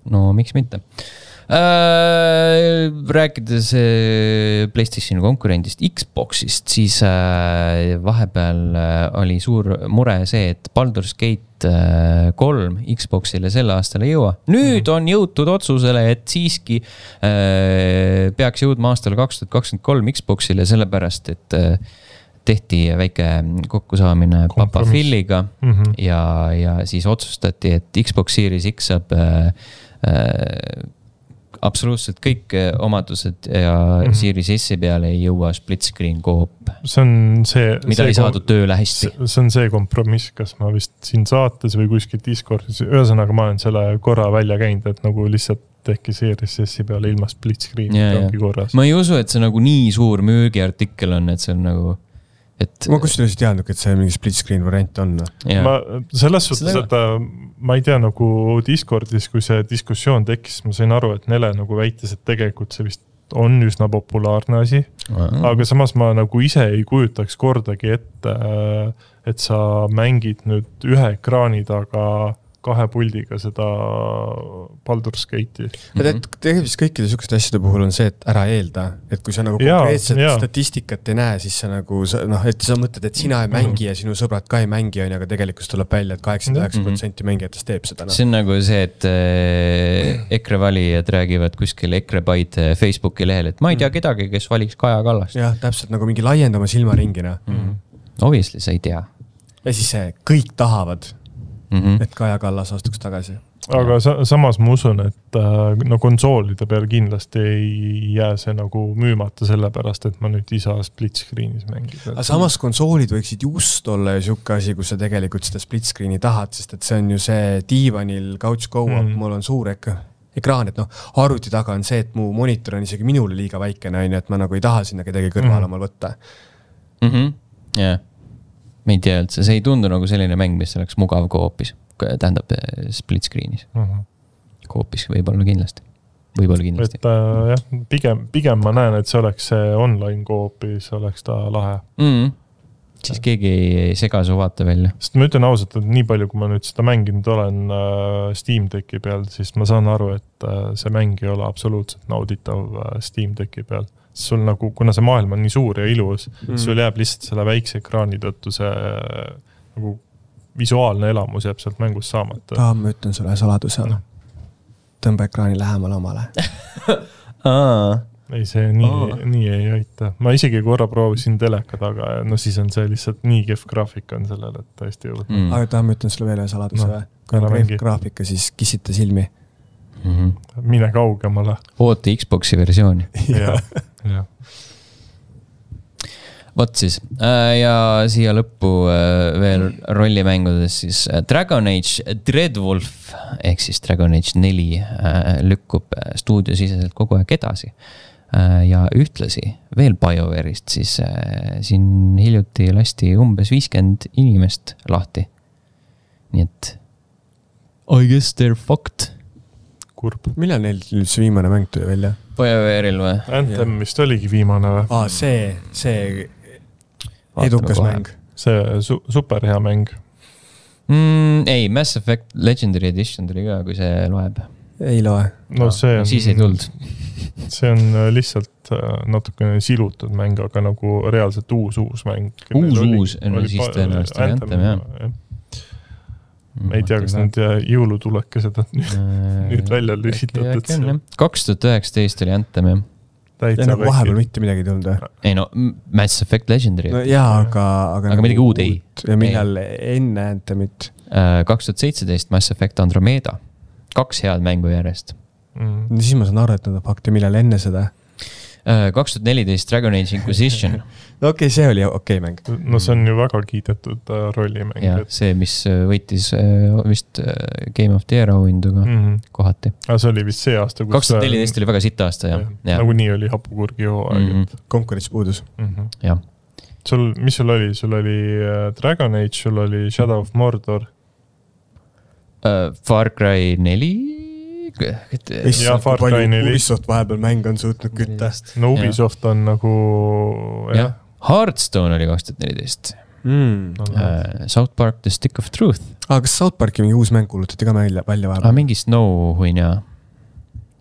No miks mitte? Rääkides PlayStationi konkurendist Xboxist, siis vahepeal oli suur mure see, et Baldur's Gate 3 Xboxile selle aastal ei jõua. Nüüd on jõutud otsusele, et siiski peaks jõudma aastal 2023 Xboxile, sellepärast, et tehti väike kokkusaamine Papa Philiga ja siis otsustati, et Xbox Series X saab absoluutselt kõik omadused ja Series S peale ei jõua split screen koop. Mida ei saadud tööle hästi. See on see kompromiss, kas ma vist siin saates või kuskil Discordis. Ühesõnaga ma olen selle korra välja käinud, et nagu lihtsalt tehki Series S peale ilma split screen korras. Ma ei usu, et see nagu nii suur müügiartikkel on, et see on nagu... Ma kusjuures ei teadnud, et see mingi split screen variant on. Selles suhtes, et ma ei tea nagu Discordis, kui see diskussioon tekkis, ma sain aru, et Nele nagu väitis, et tegelikult see vist on üsna populaarne asi. Aga samas ma nagu ise ei kujutaks kordagi ette, et sa mängid nüüd ühe ekraani taga 2 puldiga seda Baldur's Gate'i. Tegelikult kõikide sükeste asjade puhul on see, et ära eelda, et kui sa nagu konkreetset statistikat ei näe, siis sa nagu, et sa mõtled, et sina ei mängi ja sinu sõbrad ka ei mängi, aga tegelikult tuleb välja, et 89% mängijatest teeb seda. See on nagu see, et EKRE valijad räägivad kuskil EKRE baid Facebooki lehel, et ma ei tea kedagi, kes valiks Kaja Kallast. Jah, täpselt nagu mingi laiendama silmaringina. Obviously, sa ei tea. Ja siis kõik tahavad et Kaja Kallas astuks tagasi. Aga samas ma usun, et no konsoolide peal kindlasti ei jää see nagu müümata sellepärast, et ma nüüd ei saa split screenis mängida. Aga samas konsoolid võiksid just olla ju siuke asi, kus sa tegelikult seda split screeni tahad, sest et see on ju see diivanil couch go-up, mul on suur ekraan, et arvuti taga on see, et mu monitor on isegi minule liiga väikene, et ma nagu ei taha sinna kedagi kõrval omal võtta. Jah. ma ei tea üldse, see ei tundu nagu selline mäng, mis oleks mugav koopis, tähendab split screen'is. Koopis võib-olla kindlasti. Et jah, pigem ma näen, et see oleks see online koopis, oleks ta lahe. Siis keegi ei sega su vaata välja. Sest ma ütlen ausalt, et nii palju, kui ma nüüd seda mänginud olen Steam Decki peal, siis ma saan aru, et see mäng ei ole absoluutselt nauditav Steam Decki peal. Sul nagu, kuna see maailm on nii suur ja ilus, sul jääb lihtsalt selle väikse ekraani tõttu see nagu visuaalne elamus jääb sealt mängust saamata. Ma ütlen sulle saladuse. Tõmba ekraani lähemal omale. Ei, see nii ei aita. Ma isegi korra proovisin teleka taga ja no siis on see lihtsalt nii kehv graafika on sellel, et täiesti jõudnud. Aga ma ütlen sulle veel saladuse või? Kui on kehv graafika, siis kissita silmi. Mine kaugemale. Oota Xboxi versiooni. jah. Vot siis. Ja siia lõppu veel rollimängudes siis Dragon Age Dreadwolf ehk siis Dragon Age 4 lükkub stuudiosiseselt kogu aeg edasi. Ja ühtlasi veel BioWare'ist siis siin hiljuti lasti umbes 50 inimest lahti. Nii et I guess they're fucked. Kurb. Millal neil see viimane mäng tuli välja? BioWare'il või? Anthem vist oligi viimane või? See edukas mäng. See super hea mäng. Ei, Mass Effect Legendary Edition tuli ka, kui see loeb. Ei loe. No see on, siis ei tuld. See on lihtsalt natukene silutud mäng, aga nagu reaalselt uus mäng. Uus, no siis tõenäoliselt Anthem, jah. Ma ei tea, kas need jõulutulekesed on nüüd välja lühitatud. 2019 oli Anthem, jah. Ja nagu vahepeal mitte midagi tulnud. Ei no, Mass Effect Legendary. No jaa, aga midagi uud ei. Ja millal enne Anthemit? 2017 Mass Effect Andromeda. 2 head mängu järjest. Siis ma saan aru, et nad on fakti, millal enne seda? 2014 Dragon Age Inquisition. No okei, see oli okei mäng. No see on ju väga kiidetud rollimäng. Ja, see, mis võitis vist Game of the Year auhinduga kohati. Aga see oli vist see aasta, 2014 oli väga sitt aasta, jah. Nagu nii oli hapukurgi hooaeg. Konkurents puudus. Jah. Mis sul oli? Sul oli Dragon Age, sul oli Shadow of Mordor. Far Cry 4? Ja Far Cry 4. Ubisoft vahepeal mäng on suutnud kütta. No Ubisoft on nagu... jah. Hearthstone oli 2014. South Park The Stick of Truth. Kas South Parki mingi uus mäng kuulutati ka välja vahepeal? Mingi Snow huin ja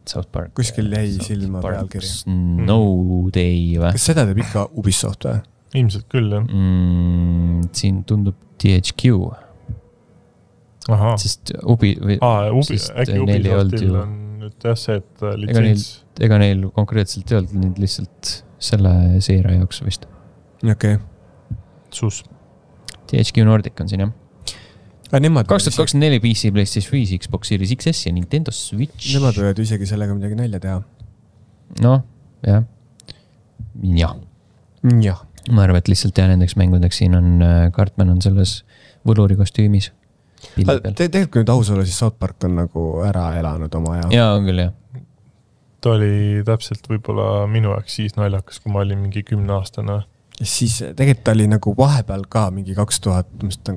South Park. Kuskil jäi silma pealkiri. Snow Day või? Kas seda teeb ikka Ubisoft või? Ilmselt küll, jah. Siin tundub THQ. Aha. Sest äkki Ubisoftil on nüüd jah see, et litsents. Ega neil konkreetselt ei olnud nüüd lihtsalt selle seeria jaoks vist. Okei. Sus. THQ Nordic on siin, jah. 2024 PC, PlayStation 5, Xbox Series XS ja Nintendo Switch. Nemad võivad isegi sellega midagi nälja teha. Noh, jah. Jah. Ma arvan, et lihtsalt nendeks mängudeks siin on Cartman on selles võluri kostüümis. Tegelikult kui nüüd aus olla, siis South Park on nagu ära elanud oma aja. Jaa, on küll, jah. Ta oli täpselt võib-olla minu jaoks siis naljakas, kui ma olin mingi 10-aastane. Ja siis tegelikult ta oli nagu vahepeal ka mingi 2015,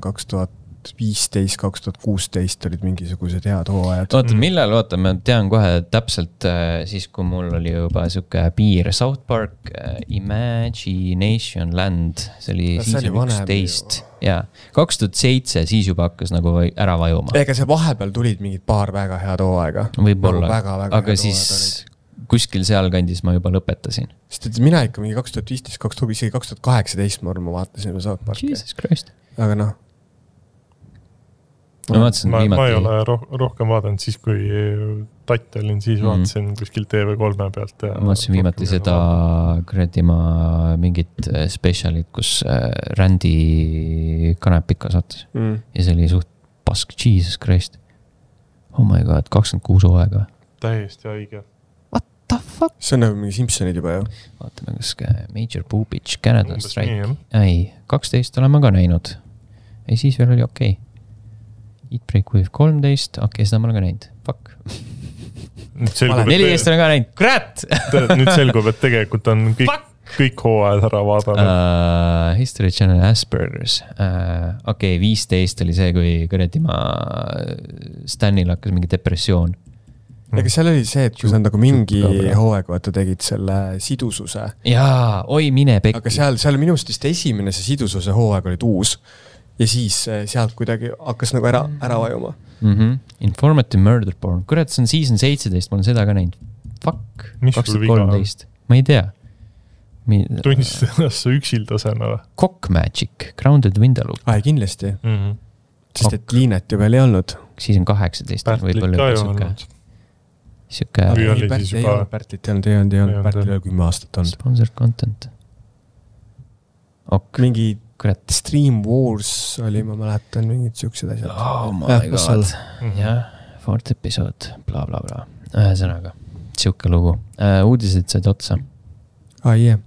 2016 olid mingisugused head hooajad. Oota, ma tean kohe täpselt siis, kui mul oli juba siuke piir South Park, Imagination Land, see oli season 11. Ja 2007 siis juba hakkas nagu ära vajuma. Ega see vahepeal tulid mingid paar väga head hooaega. Võib-olla, nagu aga siis kuskil seal kandis ma juba lõpetasin. Sest et mina ikka mingi 2015, 2018 ma vaatasin South Parki. Jesus Christ. Aga noh. Ma ei ole rohkem vaadanud siis, kui tatt olin, siis vaatasin kuskil TV3 pealt. Ma vaatasin viimati seda ma mingit specialit, kus Randy Kanepika saatis. Ja see oli suht pask, Jesus Christ. Oh my god, 26 hooaega. Täiesti haige. What the fuck? See on nagu mingi Simpsonid juba, jah? Vaatame, kas Major Boobage, Canada Strike. Ei, 12 olen ma ka näinud. Ei, siis veel oli okei. Eat Break With 13, seda ma olen ka näinud. Fuck. 14 olen ka näinud. Kurat! Nüüd selgub, et tegelikult on kõik kõik hooajad ära vaadanud. History Channel Aspergers. Okei, 15 oli see, kui kuradi Stanil hakkas mingi depressioon. Ega seal oli see, et kui sa nagu mingi hooaega vaata tegid selle sidususe. Jaa, oi mine pekki. Aga seal minu arust vist esimene see sidususe hooaeg olid uus. Ja siis sealt kuidagi hakkas nagu ära vajuma. Informative murder porn. Kurat, see on season 17, ma olen seda ka näinud. Fuck, mis 2013. Ma ei tea. Tunnistasid ennast sa üksildasena või? Cock Magic, Grounded Windaloop. Kindlasti. Sest et Liinet ju veel ei olnud. Siis on 18. Pärtlit ka ei olnud. Siuke... Pärtlit ei olnud. Pärtlit ei olnud 10 aastat olnud. Sponsored content. Mingi Stream Wars oli, ma mäletan, mingid siuksed asjad. Oh my god. Jah, 4th episood, bla bla bla. Ühesõnaga, siuke lugu. Uudised said otsa. Yeah.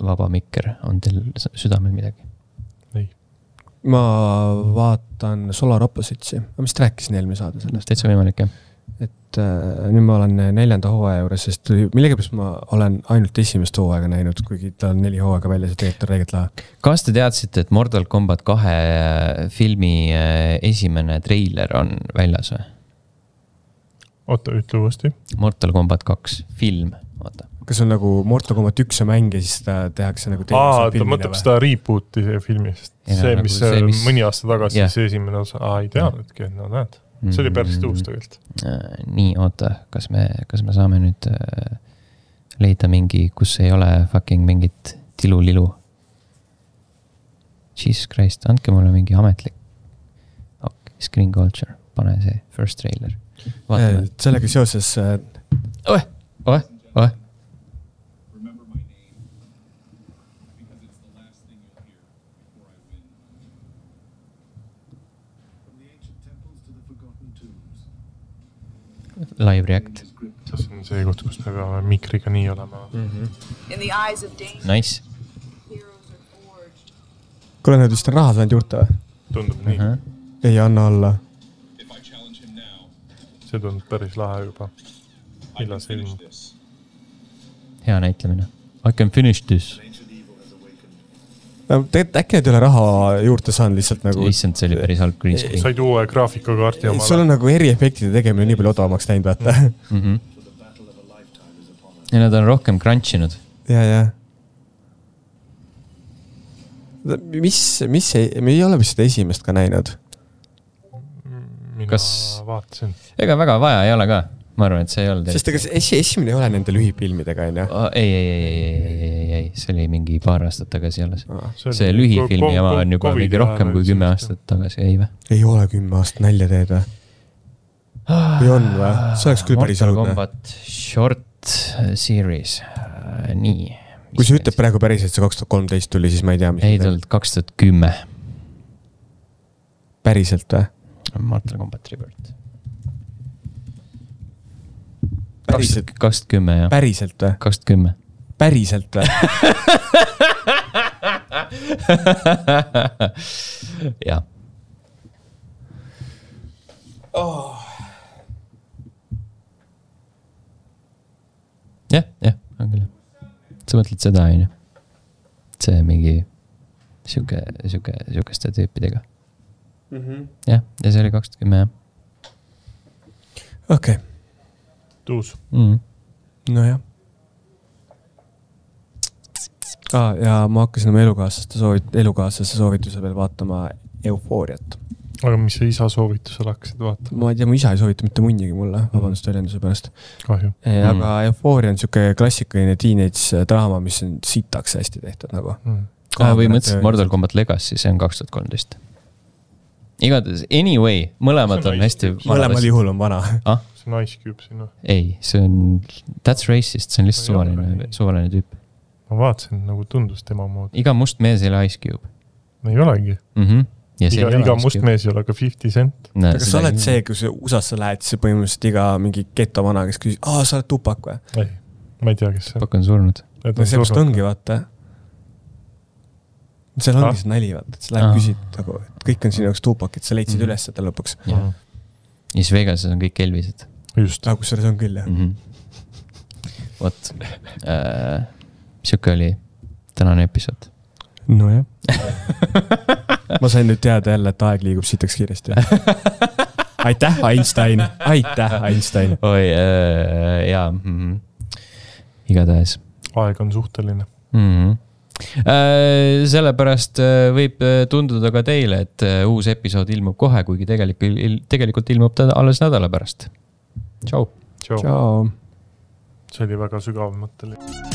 Vaba mikker, on teil südamel midagi? Ei. Ma vaatan Solar Oppositesi. Ma vist rääkisin eelmine saade sellest. Täitsa võimalik, jah. Et nüüd ma olen 4. hooaja juures, sest millegipärast ma olen ainult esimest hooaega näinud, kuigi ta on 4 hooaega välja, see tegelikult on reegelt lahe. Kas te teadsite, et Mortal Kombat 2 filmi esimene treiler on väljas või? Oota, ütle uuesti. Mortal Kombat 2 film, oota. Kas on nagu Mortal Kombat 1 mäng ja siis ta tehakse nagu ta mõtleb seda rebooti filmist. See, mis mõni aasta tagasi see esimene osa. Ei teadnudki, no näed. See oli päris tuus tegelikult. Nii, oota, kas me saame nüüd leida mingi, kus ei ole fucking mingit tilu-lilu? Jesus Christ, andke mulle mingi ametlik. Screen Culture, pane see first trailer. Sellega seoses... Oe. Live react. See on see koht, kus me peame mikriga nii olema. Nice. Kuule, need vist on raha saanud juurde või? Tundub nii. Ei anna alla. See tundub päris lahe juba. Millal see ilmub? Hea näitlemine. I can finish this. Tegelikult äkki need ei ole raha juurde saanud lihtsalt nagu... Issand, see oli päris halb green screen. Said uue graafikakaarti omale. Sul on nagu eriefektide tegemine nii palju odavamaks näinud, vaata. Ja nad on rohkem crunchinud. Ja. Mis me ei ole vist seda esimest ka näinud? Mina vaatasin. Ega väga vaja ei ole ka. Ma arvan, et see ei olnud. Sest ega esimene ei ole nende lühifilmidega, on jah? Ei, see oli mingi paar aastat tagasi alles. See lühifilmi jama on juba mingi rohkem kui 10 aastat tagasi, ei või? Ei ole 10 aastat nälja teed või? Või on või? See oleks küll päris aludne. Mortal Kombat Short Series. Nii. Kui sa ütleb praegu päris, et see 2013 tuli, siis ma ei tea, mis... Ei tulnud 2010. Päriselt või? Mortal Kombat Rebirth. Päriselt? 2010, jah. Päriselt või? 2010. Päriselt või? Jah. Jah, on küll. Sa mõtled seda, on ju? See mingi siukeste tüüpidega. Jah, ja see oli 2010, jah. Okei. Tuus. No jah. Ja ma hakkasin oma elukaaslaste soovituse veel vaatama Eufooriat. Aga mis see isa soovitusel hakkasid vaatama? Ma ei tea, mu isa ei soovita mitte munnigi mulle, vabandust väljenduse pärast. Kahju. Aga Eufooria on siuke klassikaline teenage draama, mis on sitaks hästi tehtud nagu. Või mõtlesid Mortal Kombat Legacy, see on 2013. Igatahes, anyway, mõlemad on hästi... Mõlemad juhul on vana. See on Ice Cube sinu. Ei, see on... That's racist, see on lihtsalt suvaline tüüp. Ma vaatasin, nagu tundus tema moodi. Iga must mees ei ole Ice Cube. Ei olegi. Iga must mees ei ole ka 50 cent. Kas sa oled see, kui sa USA-sse lähed, siis põhimõtteliselt iga mingi geto vana, kes küsis, sa oled Tupak või? Ei, ma ei tea, kes see. Tupak on surnud. Seepärast ongi, vaata. Seal ongi see nali, vaata, et sa läheb küsid, et kõik on sinu jaoks Tupak, et sa leidsid üles seda lõpuks. Ja siis Vegases on kõik Elvised. Just. Kus selles on küll, jah. Võt. siuke oli tänane episood. Nojah. Ma sain nüüd teada jälle, et aeg liigub sitaks kiiresti. Aitäh, Einstein. Aitäh, Einstein. Oi, jaa. Igatahes. Aeg on suhteline. Sellepärast võib tunduda ka teile, et uus episood ilmub kohe, kuigi tegelikult ilmub ta alles nädala pärast. Tšau. See oli väga sügav mõtteline.